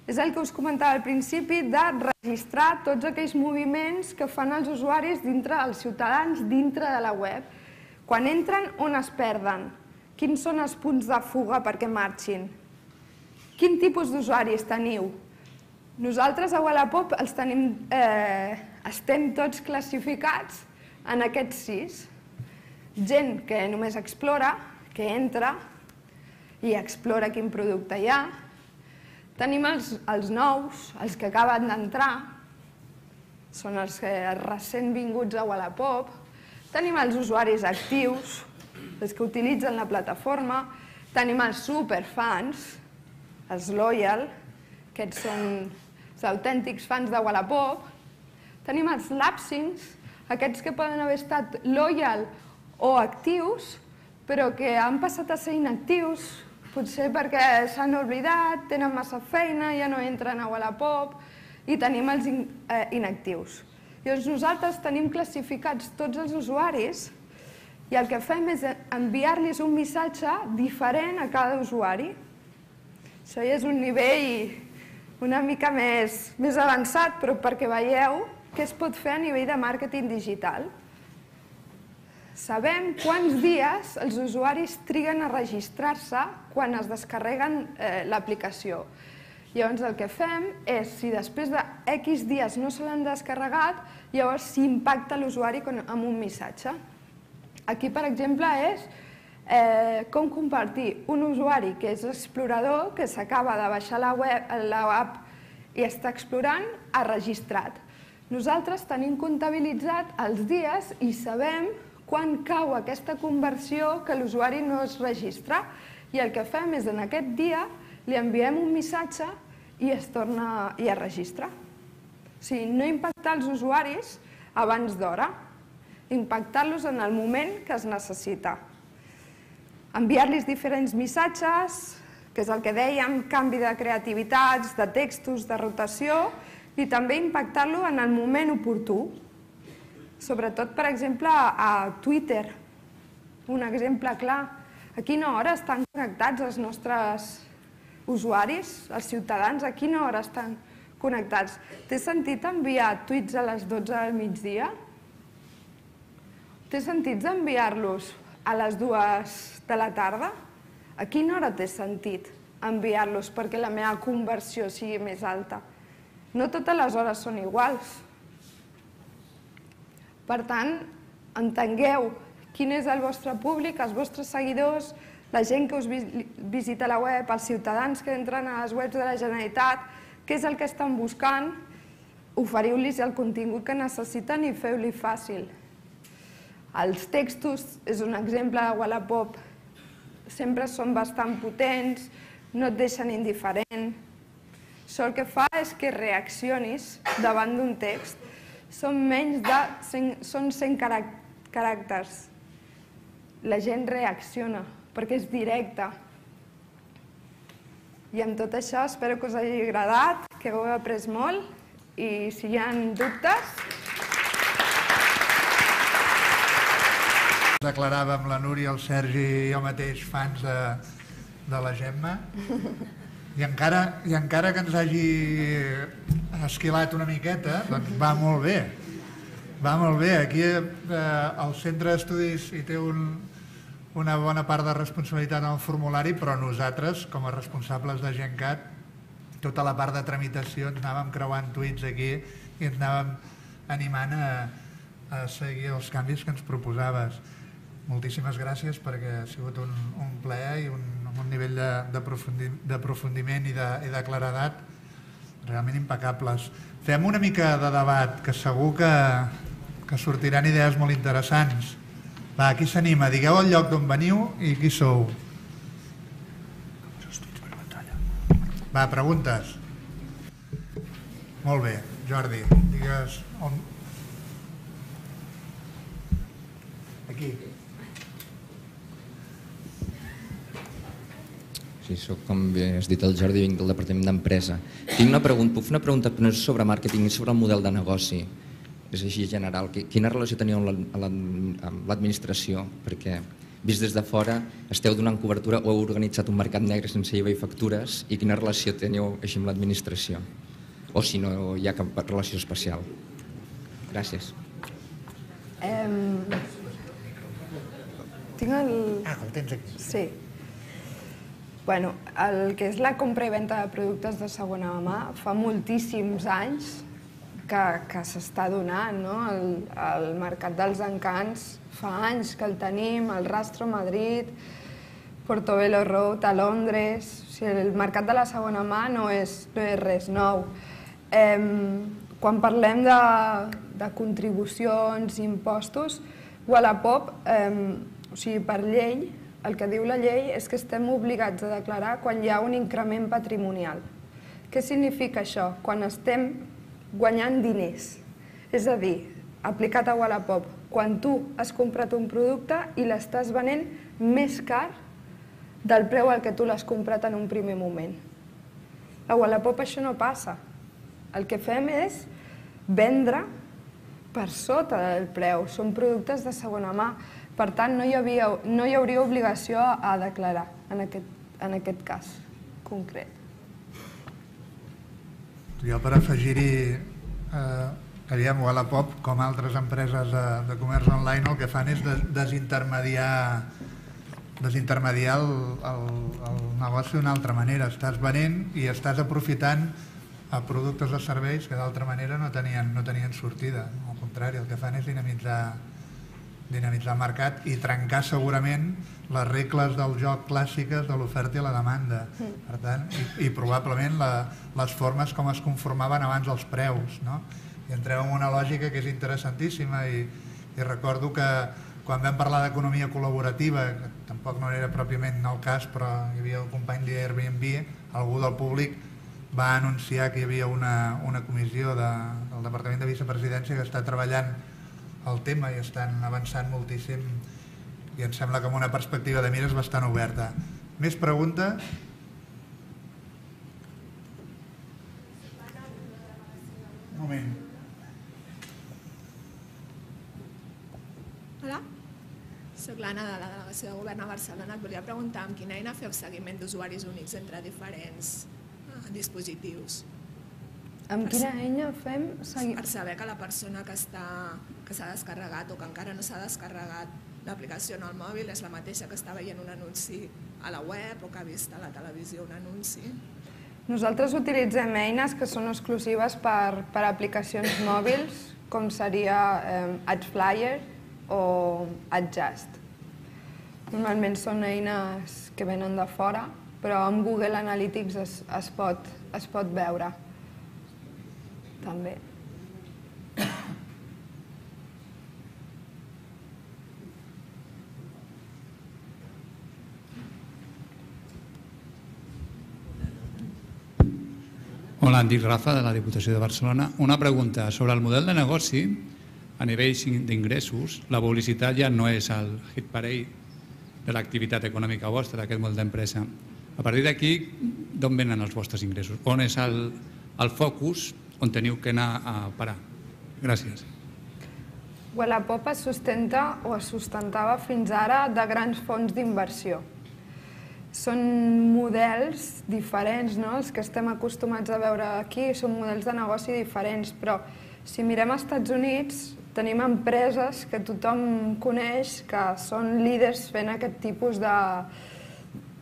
És el que us comentava al principi de registrar tots aquells moviments que fan els usuaris dintre els ciutadans, dintre de la web. Quan entren, on es perden? Quins són els punts de fuga perquè marxin? Quin tipus d'usuaris teniu? Nosaltres a Wallapop estem tots classificats en aquests sis. Gent que només explora, que entra i explora quin producte hi ha. Tenim els nous, els que acaben d'entrar, són els recent vinguts a Wallapop. Tenim els usuaris actius, els que utilitzen la plataforma. Tenim els superfans, els loyal, aquests són els autèntics fans de Wallapop. Tenim els lapsings, aquests que poden haver estat loyal o actius, però que han passat a ser inactius, potser perquè s'han oblidat, tenen massa feina, ja no entren a Wallapop, i tenim els inactius. Llavors nosaltres tenim classificats tots els usuaris i el que fem és enviar-los un missatge diferent a cada usuari. Això ja és un nivell una mica més avançat, però perquè veieu què es pot fer a nivell de màrqueting digital. Sabem quants dies els usuaris triguen a registrar-se quan es descarreguen l'aplicació. Llavors el que fem és, si després de X dies no se l'han descarregat, llavors s'impacta l'usuari amb un missatge. Aquí, per exemple, és com compartir un usuari que és explorador, que s'acaba de baixar l'app i està explorant, ha registrat. Nosaltres tenim comptabilitzat els dies i sabem quan cau aquesta conversió que l'usuari no es registra. I el que fem és, en aquest dia, li enviem un missatge i es torna i es registra. O sigui, no impactar els usuaris abans d'hora, impactar-los en el moment que es necessita. Enviar-los diferents missatges, que és el que dèiem, canvi de creativitats, de textos, de rotació, i també impactar-lo en el moment oportú. Sobretot, per exemple, a Twitter, un exemple clar. A quina hora estan connectats els nostres usuaris, els ciutadans, a quina hora estan connectats. Té sentit enviar tuits a les dotze del migdia? Té sentit enviar-los a les dues de la tarda? A quina hora té sentit enviar-los perquè la meva conversió sigui més alta? No totes les hores són iguals. Per tant, entengueu quin és el vostre públic, els vostres seguidors, la gent que us visita la web, els ciutadans que entren a les webs de la Generalitat, què és el que estan buscant, oferiu-los el contingut que necessiten i feu-li fàcil. Els textos, és un exemple de Wallapop, sempre són bastant potents, no et deixen indiferent. Això el que fa és que reaccionis davant d'un text. Són menys de són cent caràcters. La gent reacciona perquè és directe. I amb tot això espero que us hagi agradat, que heu après molt i si hi ha dubtes... Declaràvem la Núria, el Sergi i jo mateix fans de la Gemma i encara que ens hagi esquilat una miqueta, doncs va molt bé. Va molt bé. Aquí al centre d'estudis hi té una bona part de responsabilitat en el formulari, però nosaltres, com a responsables de GenCat, tota la part de tramitació ens anàvem creuant tuits aquí i ens anàvem animant a seguir els canvis que ens proposaves. Moltíssimes gràcies perquè ha sigut un plaer i un nivell d'aprofundiment i de claredat realment impecables. Fem una mica de debat, que segur que sortiran idees molt interessants. Va, qui s'anima? Digueu el lloc d'on veniu i qui sou. Va, preguntes. Molt bé, Jordi, digues on... Aquí. Sí, soc, com bé has dit, el Jordi, vinc del Departament d'Empresa. Tinc una pregunta, puc fer una pregunta no és sobre màrqueting, és sobre el model de negoci. És així general. Quina relació teníeu amb l'administració? Perquè, vist des de fora, esteu donant cobertura o heu organitzat un mercat negre sense I V A i factures i quina relació teniu així amb l'administració? O si no hi ha cap relació especial. Gràcies. Tinc el... Ah, el tens aquí. Sí. Bueno, el que és la compra i venda de productes de segona mà fa moltíssims anys que s'està donant, no? El mercat dels encants fa anys que el tenim, el Rastro a Madrid, Portobello Road a Londres... El mercat de la segona mà no és res nou. Quan parlem de contribucions i impostos, Wallapop, o sigui, per llei, el que diu la llei és que estem obligats a declarar quan hi ha un increment patrimonial. Què significa això? Quan estem guanyant diners. És a dir, aplicat a Wallapop, quan tu has comprat un producte i l'estàs venent més car del preu al que tu l'has comprat en un primer moment. A Wallapop això no passa. El que fem és vendre per sota del preu. Són productes de segona mà. Per tant, no hi hauria obligació a declarar en aquest cas concret. Jo per afegir-hi, aviam, Wallapop, com altres empreses de comerç online, el que fan és desintermediar desintermediar el negoci d'una altra manera. Estàs venent i estàs aprofitant productes o serveis que d'altra manera no tenien sortida. Al contrari, el que fan és dinamitzar dinamitzar el mercat i trencar segurament les regles del joc clàssiques de l'oferta i la demanda. Per tant, i probablement les formes com es conformaven abans els preus. I entrem en una lògica que és interessantíssima i recordo que quan vam parlar d'economia col·laborativa, que tampoc no era pròpiament el cas, però hi havia el company d'Airbnb, algú del públic va anunciar que hi havia una comissió del Departament de Vicepresidència que està treballant el tema i estan avançant moltíssim i em sembla que amb una perspectiva de mires bastant oberta. Més preguntes? Un moment. Hola, soc l'Anna de la Delegació de Govern a Barcelona. Et volia preguntar amb quina eina feu seguiment d'usuaris únics entre diferents dispositius. Amb quina eina fem? Per saber que la persona que s'ha descarregat o que encara no s'ha descarregat l'aplicació en el mòbil és la mateixa que està veient un anunci a la web o que ha vist a la televisió un anunci. Nosaltres utilitzem eines que són exclusives per aplicacions mòbils, com seria AdFlyer o AdJust. Normalment són eines que venen de fora, però amb Google Analytics es pot veure també. Hola, em dic Rafa, de la Diputació de Barcelona. Una pregunta sobre el model de negoci. A nivell d'ingressos, la publicitat ja no és el hit parade de l'activitat econòmica vostra, d'aquest model d'empresa. A partir d'aquí, d'on venen els vostres ingressos? On és el focus on teniu que anar a parar? Gràcies. Wallapop es sustenta o es sustentava fins ara de grans fons d'inversió. Són models diferents, els que estem acostumats a veure aquí, són models de negoci diferents, però si mirem als Estats Units tenim empreses que tothom coneix que són líders fent aquest tipus de...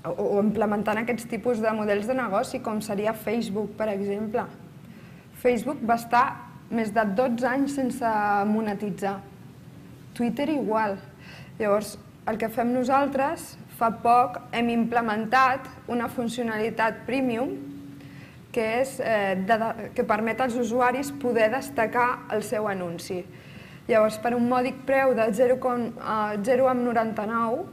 o implementant aquests tipus de models de negoci, com seria Facebook, per exemple. Facebook va estar més de dotze anys sense monetitzar. Twitter igual. Llavors, el que fem nosaltres, fa poc hem implementat una funcionalitat premium que permet als usuaris poder destacar el seu anunci. Llavors, per un mòdic preu de zero coma noranta-nou,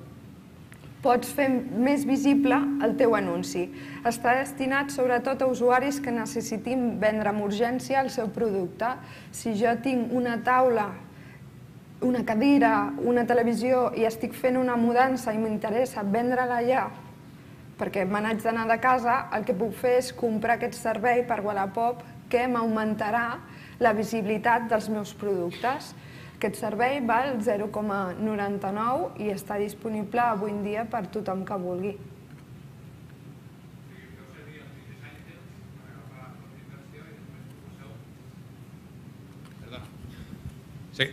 pots fer més visible el teu anunci. Està destinat sobretot a usuaris que necessitin vendre amb urgència el seu producte. Si jo tinc una taula, una cadira, una televisió i estic fent una mudança i m'interessa vendre-la allà perquè me n'haig d'anar de casa, el que puc fer és comprar aquest servei per Wallapop que m'augmentarà la visibilitat dels meus productes. Aquest servei val zero coma noranta-nou i està disponible avui en dia per tothom que vulgui.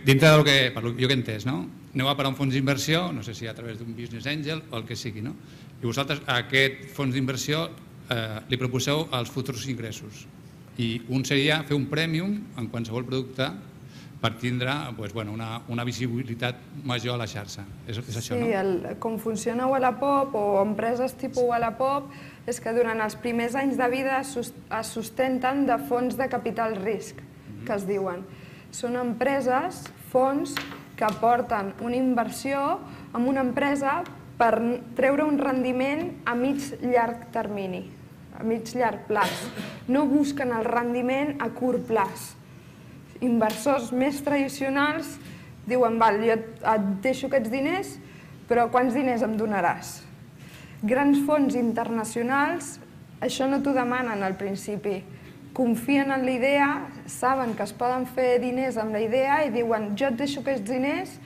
Dintre del que jo que he entès, no? Aneu a parar un fons d'inversió, no sé si a través d'un business angel o el que sigui, no? I vosaltres a aquest fons d'inversió li proposeu els futurs ingressos. I un seria fer un prèmium en qualsevol producte per tindre una visibilitat major a la xarxa. És això, no? Sí, com funciona Wallapop o empreses tipus Wallapop és que durant els primers anys de vida es sustenten de fons de capital risc, que es diuen. Són empreses, fons, que aporten una inversió en una empresa per treure un rendiment a mig-llarg termini, a mig-llarg plaç. No busquen el rendiment a curt plaç. Inversors més tradicionals diuen, val, jo et deixo aquests diners, però quants diners em donaràs? Grans fons internacionals, això no t'ho demanen al principi. Confien en la idea, saben que es poden fer diners amb la idea i diuen, jo et deixo aquests diners,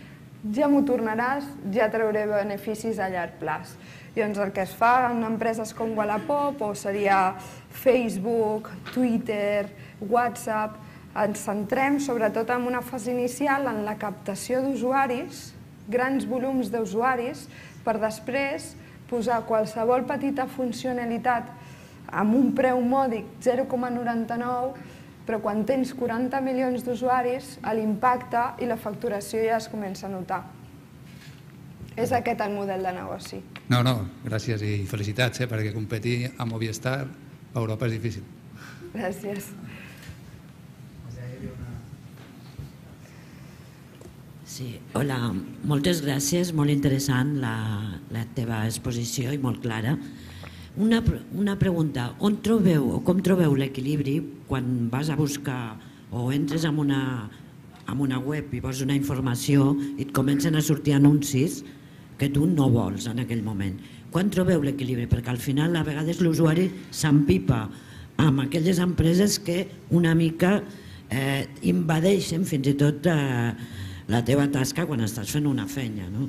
ja m'ho tornaràs, ja trauré beneficis a llarg plaç. Llavors el que es fa en empreses com Wallapop o seria Facebook, Twitter, WhatsApp, ens centrem sobretot en una fase inicial en la captació d'usuaris, grans volums d'usuaris, per després posar qualsevol petita funcionalitat amb un preu mòdic zero coma noranta-nou, però quan tens quaranta milions d'usuaris, l'impacte i la facturació ja es comença a notar. És aquest el model de negoci. No, no, gràcies i felicitats, perquè competir amb Movistar a Europa és difícil. Gràcies. Sí, hola, moltes gràcies, molt interessant la teva exposició i molt clara. Una pregunta, on trobeu o com trobeu l'equilibri quan vas a buscar o entres en una web i vols una informació i et comencen a sortir anuncis que tu no vols en aquell moment? Quan trobeu l'equilibri? Perquè al final a vegades l'usuari s'empipa amb aquelles empreses que una mica invadeixen fins i tot la teva tasca quan estàs fent una feina, no?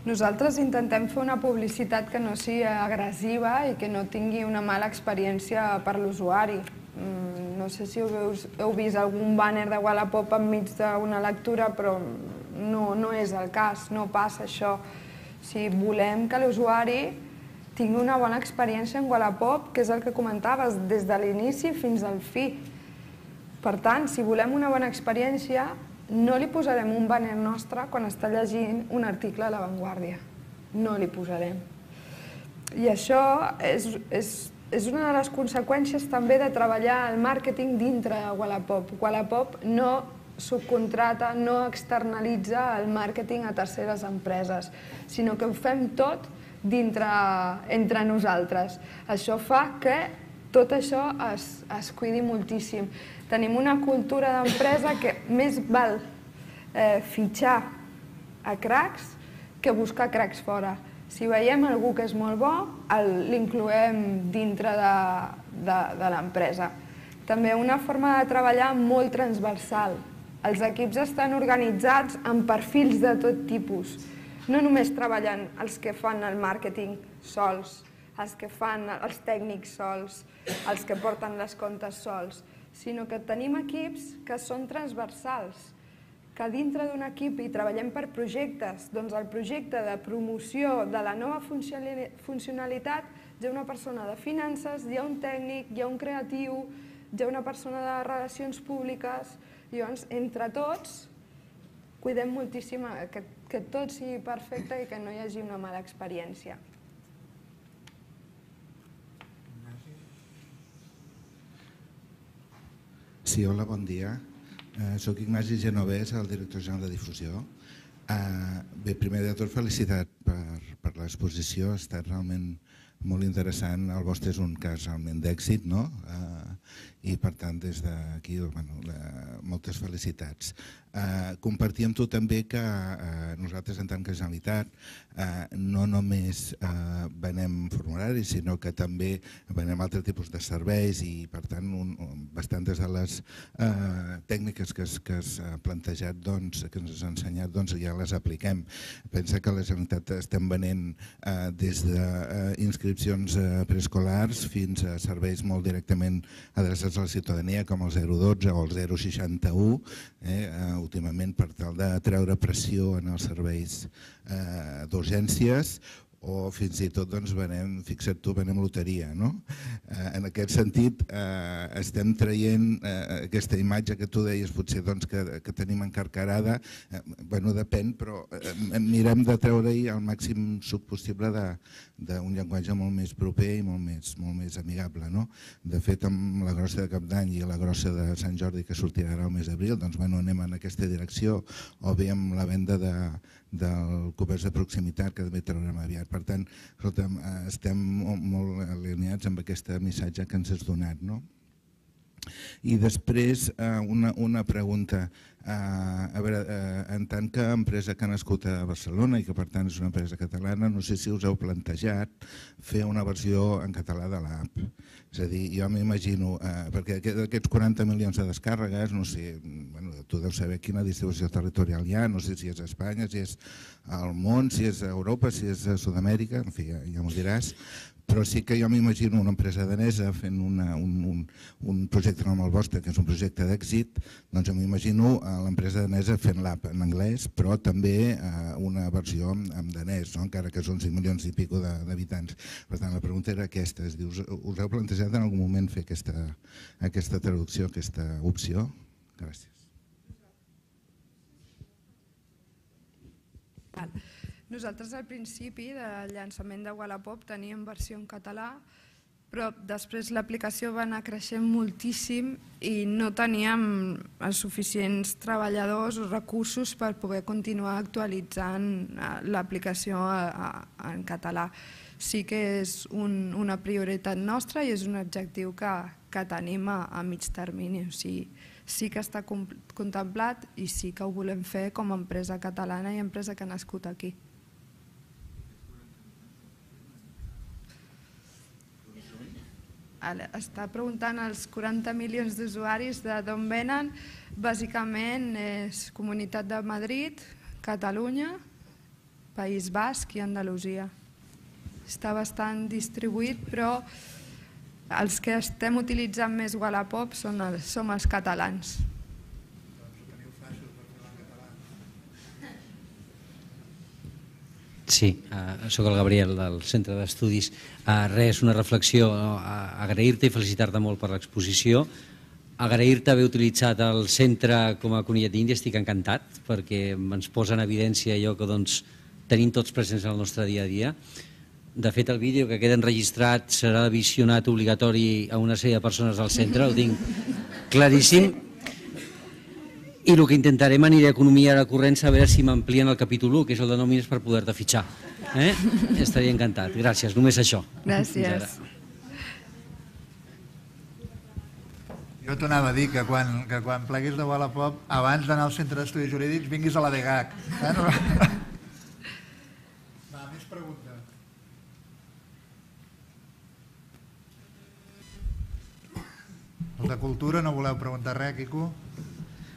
Nosaltres intentem fer una publicitat que no sigui agressiva i que no tingui una mala experiència per l'usuari. No sé si heu vist algun bàner de Wallapop enmig d'una lectura, però no és el cas, no passa això. Si volem que l'usuari tingui una bona experiència en Wallapop, que és el que comentaves, des de l'inici fins al fi. Per tant, si volem una bona experiència, no li posarem un bàner nostre quan està llegint un article a La Vanguardia. No li posarem. I això és una de les conseqüències també de treballar el màrqueting dintre de Wallapop. Wallapop no subcontrata, no externalitza el màrqueting a terceres empreses, sinó que ho fem tot entre nosaltres. Això fa que tot això es cuidi moltíssim. Tenim una cultura d'empresa que més val fitxar a cracs que buscar cracs fora. Si veiem algú que és molt bo, l'incloem dintre de l'empresa. També una forma de treballar molt transversal. Els equips estan organitzats en perfils de tot tipus. No només treballen els que fan el màrqueting sols, els que fan els tècnics sols, els que porten les comptes sols, sinó que tenim equips que són transversals, que dintre d'un equip hi treballem per projectes, doncs el projecte de promoció de la nova funcionalitat hi ha una persona de finances, hi ha un tècnic, hi ha un creatiu, hi ha una persona de relacions públiques, i llavors entre tots cuidem moltíssim que tot sigui perfecte i que no hi hagi una mala experiència. Sí, hola, bon dia. Soc Ignasi Genovès, el director general de difusió. Bé, primer de tot, felicitat per l'exposició, ha estat realment molt interessant. El vostre és un cas realment d'èxit, no? I per tant, des d'aquí, moltes felicitats. Compartir amb tu també que nosaltres, en tant que Generalitat, no només venem formularis, sinó que també venem altres tipus de serveis i, per tant, bastantes de les tècniques que has plantejat, que ens has ensenyat, ja les apliquem. Pensa que a la Generalitat estem venent des d'inscripcions preescolars fins a serveis molt directament adreçats a la ciutadania, com el zero dotze o el zero seixanta-u, últimament per tal de treure pressió en els serveis d'urgències, o fins i tot, doncs, venem, fixa't tu, venem loteria, no? En aquest sentit, estem traient aquesta imatge que tu deies, potser que tenim encarcarada, bueno, depèn, però mirem de treure-hi el màxim suc possible d'un llenguatge molt més proper i molt més amigable, no? De fet, amb la grossa de Cap d'Any i la grossa de Sant Jordi, que sortirà ara al mes d'abril, doncs, bueno, anem en aquesta direcció, o bé amb la venda del comerç de proximitat, que també traurem aviat. Per tant, estem molt alineats amb aquest missatge que ens has donat. I després una pregunta. A veure, en tant que empresa que ha nascut a Barcelona i que per tant és una empresa catalana, no sé si us heu plantejat fer una versió en català de l'app. És a dir, jo m'imagino, perquè d'aquests quaranta milions de descàrregues, no sé, tu deus saber quina distribució territorial hi ha, no sé si és a Espanya, si és al món, si és a Europa, si és a Sud-amèrica, en fi, ja m'ho diràs, però sí que jo m'imagino una empresa danesa fent un projecte com el vostre, que és un projecte d'èxit, doncs m'imagino l'empresa danesa fent l'app en anglès, però també una versió en danès, encara que són cinc milions i pico d'habitants. Per tant, la pregunta era aquesta, us heu plantejat en algun moment fer aquesta traducció, aquesta opció? Gràcies. Nosaltres al principi del llançament de Wallapop teníem versió en català, però després l'aplicació va anar creixent moltíssim i no teníem els suficients treballadors o recursos per poder continuar actualitzant l'aplicació en català. Sí que és una prioritat nostra i és un objectiu que tenim a mig termini. Sí que està contemplat i sí que ho volem fer com a empresa catalana i empresa que ha nascut aquí. Està preguntant els quaranta milions d'usuaris d'on venen. Bàsicament és Comunitat de Madrid, Catalunya, País Basc i Andalusia. Està bastant distribuït, però els que estem utilitzant més Wallapop som els catalans. Sí, soc el Gabriel del Centre d'Estudis. Res, una reflexió, agrair-te i felicitar-te molt per l'exposició. Agrair-te haver utilitzat el centre com a conillet d'Índia, estic encantat, perquè ens posa en evidència allò que tenim tots presents en el nostre dia a dia. De fet, el vídeo que queda enregistrat serà visionat obligatori a una sèrie de persones del centre, ho tinc claríssim. I el que intentarem aniré a Economia ara corrents a veure si m'amplien el capítol u, que és el de nòmines per poder-te fitxar. Estaria encantat. Gràcies, només això. Gràcies. Jo t'anava a dir que quan pleguis de Wallapop, abans d'anar al Centre d'Estudis Jurídics, vinguis a la D G A C. Va, més preguntes. Els de Cultura no voleu preguntar res, Quico?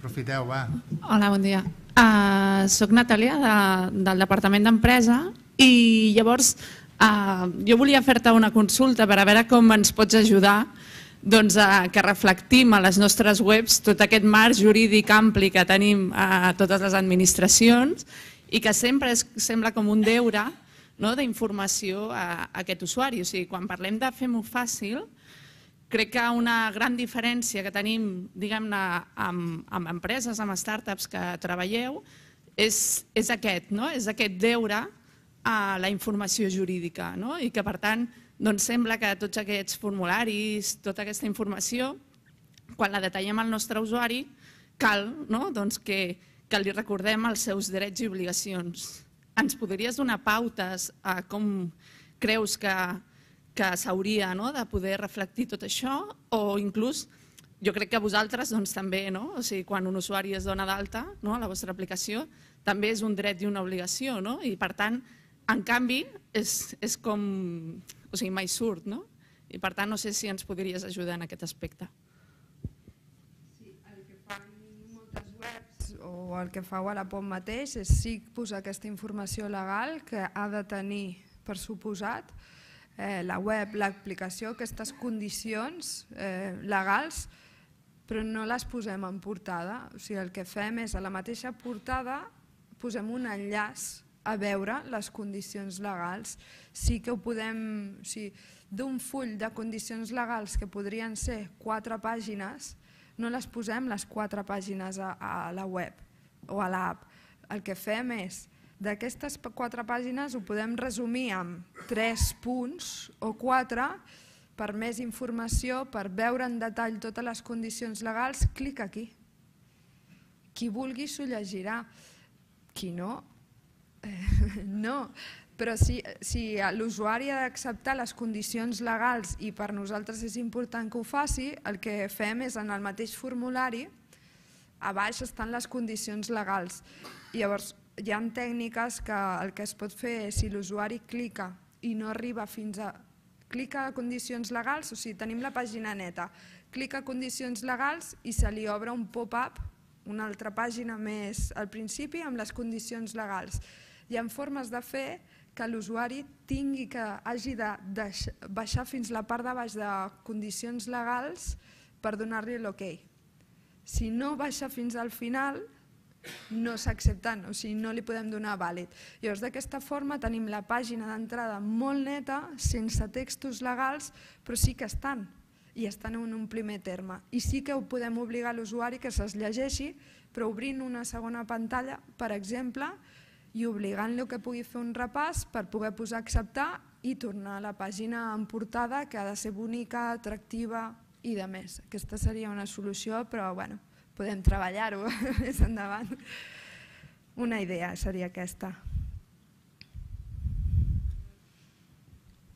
Aprofiteu, va. Hola, bon dia. Uh, soc Natàlia, de, del Departament d'Empresa, i llavors uh, jo volia fer-te una consulta per a veure com ens pots ajudar doncs, uh, que reflectim a les nostres webs tot aquest marc jurídic ampli que tenim a totes les administracions i que sempre es, sembla com un deure, no?, d'informació a, a aquest usuari. O sigui, quan parlem de fem-ho fàcil, crec que una gran diferència que tenim, diguem-ne, amb, amb empreses, amb startups que treballeu, és, és aquest, no? És aquest deure a la informació jurídica, no? I que, per tant, doncs sembla que tots aquests formularis, tota aquesta informació, quan la detallem al nostre usuari, cal, no?, doncs que, que li recordem els seus drets i obligacions. Ens podries donar pautes a com creus que que s'hauria de poder reflectir tot això, o inclús jo crec que vosaltres també, o sigui, quan un usuari es dona d'alta a la vostra aplicació, també és un dret i una obligació, i per tant, en canvi, és com, o sigui, mai surt, i per tant no sé si ens podries ajudar en aquest aspecte. Sí, el que fan moltes webs o el que fa Wallapop mateix és sí posar aquesta informació legal que ha de tenir, per suposat, la web, l'aplicació, aquestes condicions legals, però no les posem en portada. O sigui, el que fem és a la mateixa portada posem un enllaç a veure les condicions legals. Sí que ho podem, o sigui, d'un full de condicions legals que podrien ser quatre pàgines, no les posem les quatre pàgines a la web o a l'app. El que fem és d'aquestes quatre pàgines ho podem resumir en tres punts o quatre per més informació, per veure en detall totes les condicions legals, clic aquí. Qui vulgui s'ho llegirà, qui no, no. Però si l'usuari ha d'acceptar les condicions legals i per nosaltres és important que ho faci, el que fem és en el mateix formulari, a baix estan les condicions legals. Llavors, hi ha tècniques que el que es pot fer és si l'usuari clica i no arriba fins a... Clica a condicions legals, o sigui, tenim la pàgina neta, clica a condicions legals i se li obre un pop-up, una altra pàgina més al principi amb les condicions legals. Hi ha formes de fer que l'usuari tingui que hagi de baixar fins la part de baix de condicions legals per donar-li l'ok. Si no baixa fins al final, no s'accepten, o sigui, no li podem donar vàlid. Llavors, d'aquesta forma tenim la pàgina d'entrada molt neta, sense textos legals, però sí que estan, i estan en un primer terme. I sí que ho podem obligar a l'usuari que se'ls llegeixi, però obrint una segona pantalla, per exemple, i obligant-lo que pugui fer un repàs per poder posar acceptar i tornar a la pàgina en portada, que ha de ser bonica, atractiva i de més. Aquesta seria una solució, però bueno, podem treballar-ho més endavant. Una idea seria aquesta.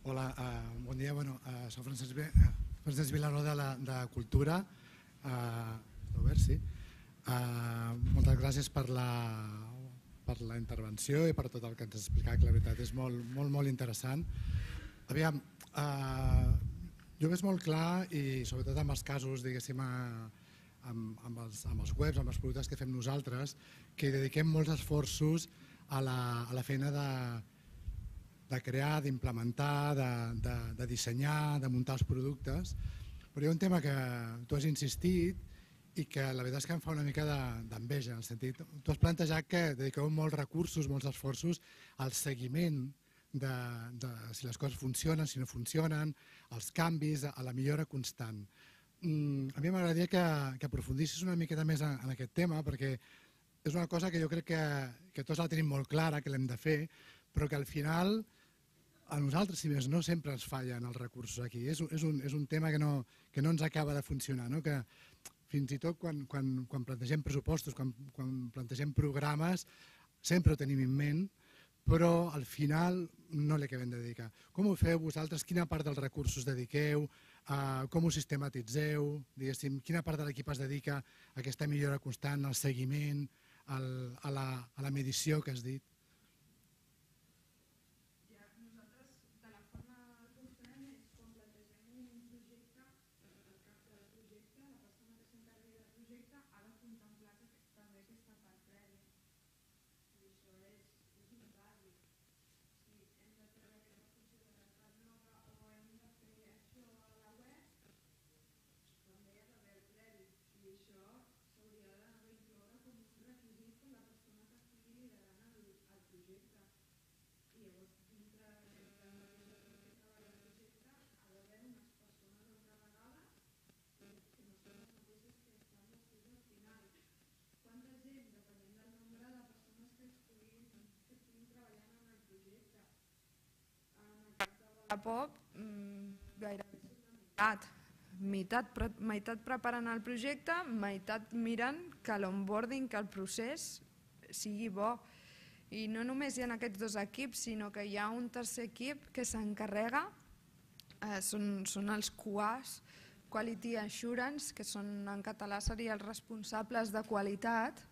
Hola, bon dia. Soc Francesc Vilaró de Cultura. Moltes gràcies per la intervenció i per tot el que ens has explicat, que la veritat és molt, molt interessant. Aviam, jo veig molt clar, i sobretot en els casos, diguéssim, amb els webs, amb els productes que fem nosaltres, que dediquem molts esforços a la feina de crear, d'implementar, de, de, de dissenyar, de muntar els productes, però hi ha un tema que tu has insistit i que la veritat és que em fa una mica d'enveja, en el sentit, tu has plantejat que dediqueu molts recursos, molts esforços al seguiment de, de si les coses funcionen, si no funcionen, els canvis, a la millora constant. Mm, a mi m'agradaria que, que aprofundissis una miqueta més en, en aquest tema, perquè és una cosa que jo crec que, que tots la tenim molt clara, que l'hem de fer, però que al final a nosaltres, si més no, sempre ens fallen els recursos aquí. És, és, un, és un tema que no, que no ens acaba de funcionar, no? Que fins i tot quan, quan, quan plantegem pressupostos, quan, quan plantegem programes, sempre ho tenim en ment, però al final no li acabem de dedicar. Com ho feu vosaltres? Quina part dels recursos dediqueu? Uh, com ho sistematitzeu? Diguéssim, quina part de l'equip es dedica a aquesta millora constant, al seguiment, al, a, la, a la medició que has dit? A Pop, gairebé meitat. Meitat, pre meitat preparant el projecte, meitat mirant que l'onboarding, que el procés sigui bo. I no només hi ha aquests dos equips, sinó que hi ha un tercer equip que s'encarrega, eh, són, són els Q As, Quality Assurance, que són en català serien els responsables de qualitat,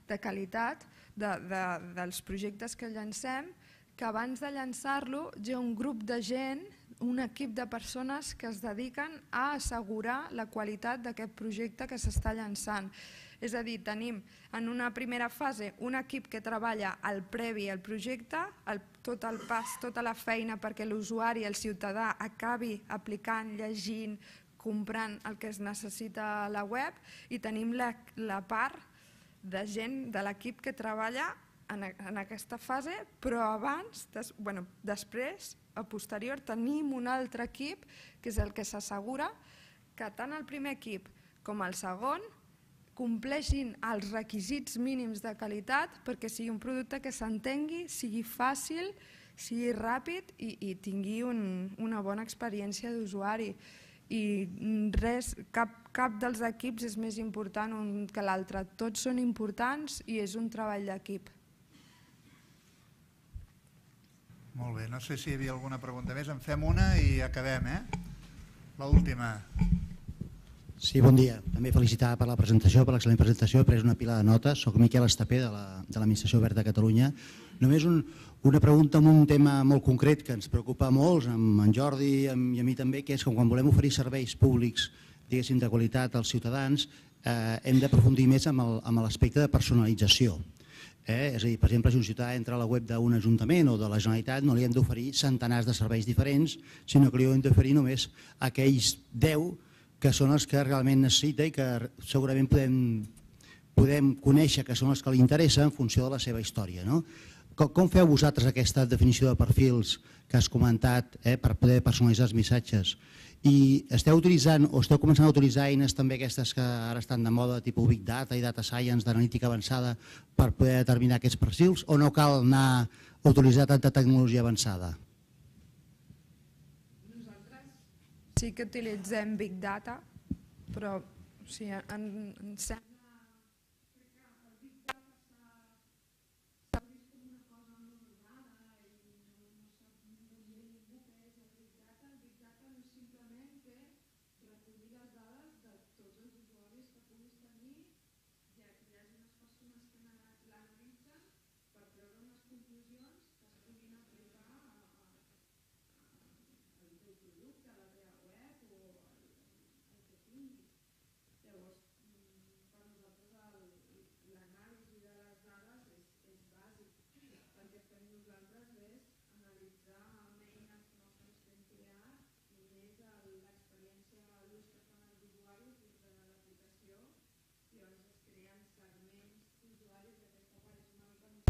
de qualitat de, de, dels projectes que llancem, que abans de llançar-lo hi ha un grup de gent, un equip de persones que es dediquen a assegurar la qualitat d'aquest projecte que s'està llançant. És a dir, tenim en una primera fase un equip que treballa al previ al projecte, el, tot el pas, tota la feina perquè l'usuari, el ciutadà, acabi aplicant, llegint, comprant el que es necessita a la web, i tenim la, la part de gent de l'equip que treballa en, en aquesta fase, però abans, des, bueno, després, a posterior, tenim un altre equip que és el que s'assegura que tant el primer equip com el segon compleixin els requisits mínims de qualitat perquè sigui un producte que s'entengui, sigui fàcil, sigui ràpid i, i tingui un, una bona experiència d'usuari. I res, cap, cap dels equips és més important un que l'altre. Tots són importants i és un treball d'equip. Molt bé, no sé si hi havia alguna pregunta més. En fem una i acabem, eh? L'última. Sí, bon dia. També felicitar per la presentació, per l'excel·lent presentació. He pres una pila de notes. Soc Miquel Estapé, de l'Administració Oberta de Catalunya. Només un, una pregunta en un tema molt concret que ens preocupa molts, amb en Jordi i a mi també, que és que quan volem oferir serveis públics, diguéssim, de qualitat als ciutadans, eh, hem d'aprofundir més amb l'aspecte de personalització. Eh? És a dir, per exemple, si un ciutadà entra a la web d'un ajuntament o de la Generalitat, no li hem d'oferir centenars de serveis diferents, sinó que li hem d'oferir només aquells deu que són els que realment necessita i que segurament podem, podem conèixer que són els que li interessa en funció de la seva història. No? Com, com feu vosaltres aquesta definició de perfils que has comentat eh, per poder personalitzar els missatges? I esteu utilitzant o esteu començant a utilitzar eines també aquestes que ara estan de moda, tipus Big Data i Data Science d'analítica avançada per poder determinar aquests perfils o no cal anar a utilitzar tanta tecnologia avançada? Nosaltres sí que utilitzem Big Data, però o sigui, en, en sembla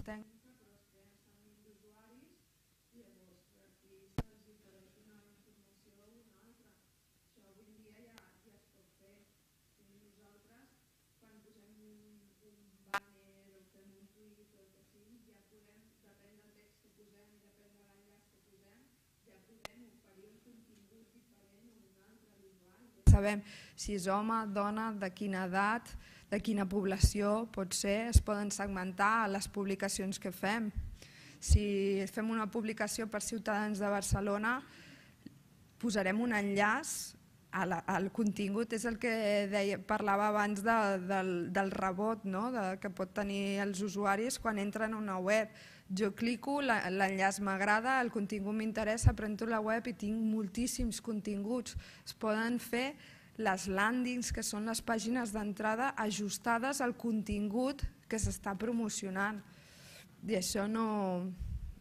tècnica, però es creen d'usuaris i llavors per aquí se'ls interessa una informació o una altra. Això avui en dia ja, ja es pot fer. I nosaltres, quan posem un, un banner o fem un tuit o el que sigui, ja podem, depèn del text que posem, depèn de l'enllaç que posem, ja podem oferir un contingut diferent o un altre a l'usuari. Sabem si és home, dona, de quina edat, de quina població pot ser, es poden segmentar les publicacions que fem. Si fem una publicació per ciutadans de Barcelona, posarem un enllaç al contingut, és el que deia, parlava abans de, del, del rebot, no? De, que pot tenir els usuaris quan entren a una web. Jo clico, l'enllaç m'agrada, el contingut m'interessa, prento la web i tinc moltíssims continguts. Es poden fer les landings, que són les pàgines d'entrada ajustades al contingut que s'està promocionant. I això no...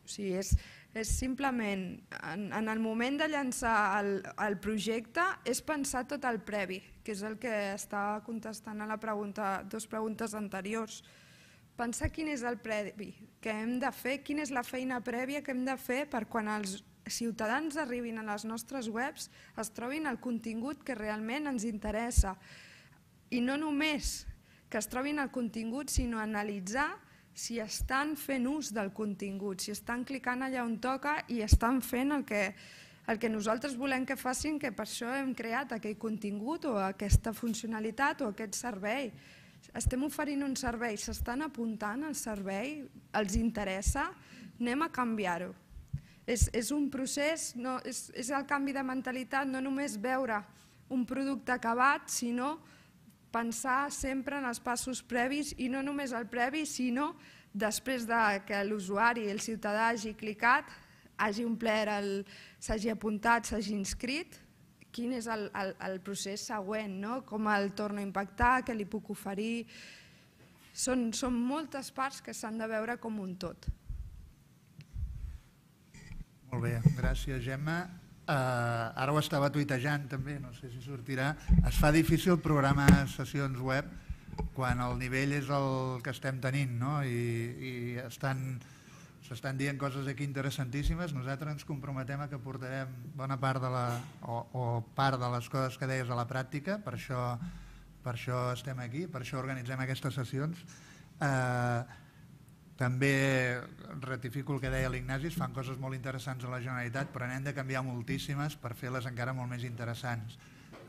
O sigui, és, és simplement, en, en el moment de llançar el, el projecte, és pensar tot el previ, que és el que està contestant a la pregunta, dues preguntes anteriors. Pensar quin és el previ que hem de fer, quina és la feina prèvia que hem de fer per quan els ciutadans arribin a les nostres webs es trobin el contingut que realment ens interessa. I no només que es trobin el contingut, sinó analitzar si estan fent ús del contingut, si estan clicant allà on toca i estan fent el que, el que nosaltres volem que facin, que per això hem creat aquell contingut o aquesta funcionalitat o aquest servei. Estem oferint un servei, s'estan apuntant al servei, els interessa, anem a canviar-ho. És, és un procés, no, és, és el canvi de mentalitat, no només veure un producte acabat, sinó pensar sempre en els passos previs i no només el previ, sinó després de que l'usuari, el ciutadà hagi clicat, hagi omplert, s'hagi apuntat, s'hagi inscrit, quin és el, el, el procés següent, no? Com el torno a impactar, què li puc oferir... Són, són moltes parts que s'han de veure com un tot. Molt bé, gràcies Gemma. Uh, ara ho estava tuitejant també, no sé si sortirà. Es fa difícil programar sessions web quan el nivell és el que estem tenint, no? I, i estan, s'estan dient coses aquí interessantíssimes. Nosaltres ens comprometem a que portarem bona part de la, o, o part de les coses que deies a la pràctica, per això, per això estem aquí, per això organitzem aquestes sessions. Uh, També ratifico el que deia l'Ignasi, es fan coses molt interessants a la Generalitat, però n'hem de canviar moltíssimes per fer-les encara molt més interessants.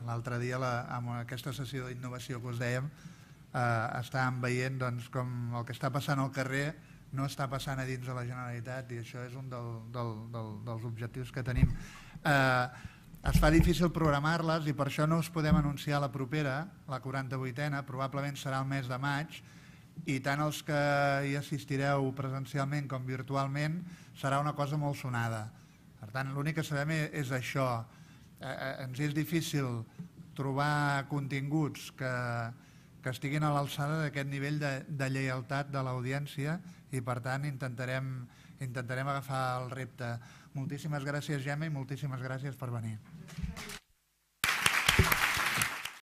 L'altre dia, la, amb aquesta sessió d'innovació que us dèiem, eh, estàvem veient doncs, com el que està passant al carrer no està passant a dins de la Generalitat i això és un del, del, del, dels objectius que tenim. Eh, es fa difícil programar-les i per això no us podem anunciar la propera, la quaranta-vuitena, probablement serà el mes de maig, i tant els que hi assistireu presencialment com virtualment serà una cosa molt sonada. Per tant, l'únic que sabem és això. Ens és difícil trobar continguts que, que estiguin a l'alçada d'aquest nivell de, de lleialtat de l'audiència i per tant intentarem, intentarem agafar el repte. Moltíssimes gràcies Gemma i moltíssimes gràcies per venir.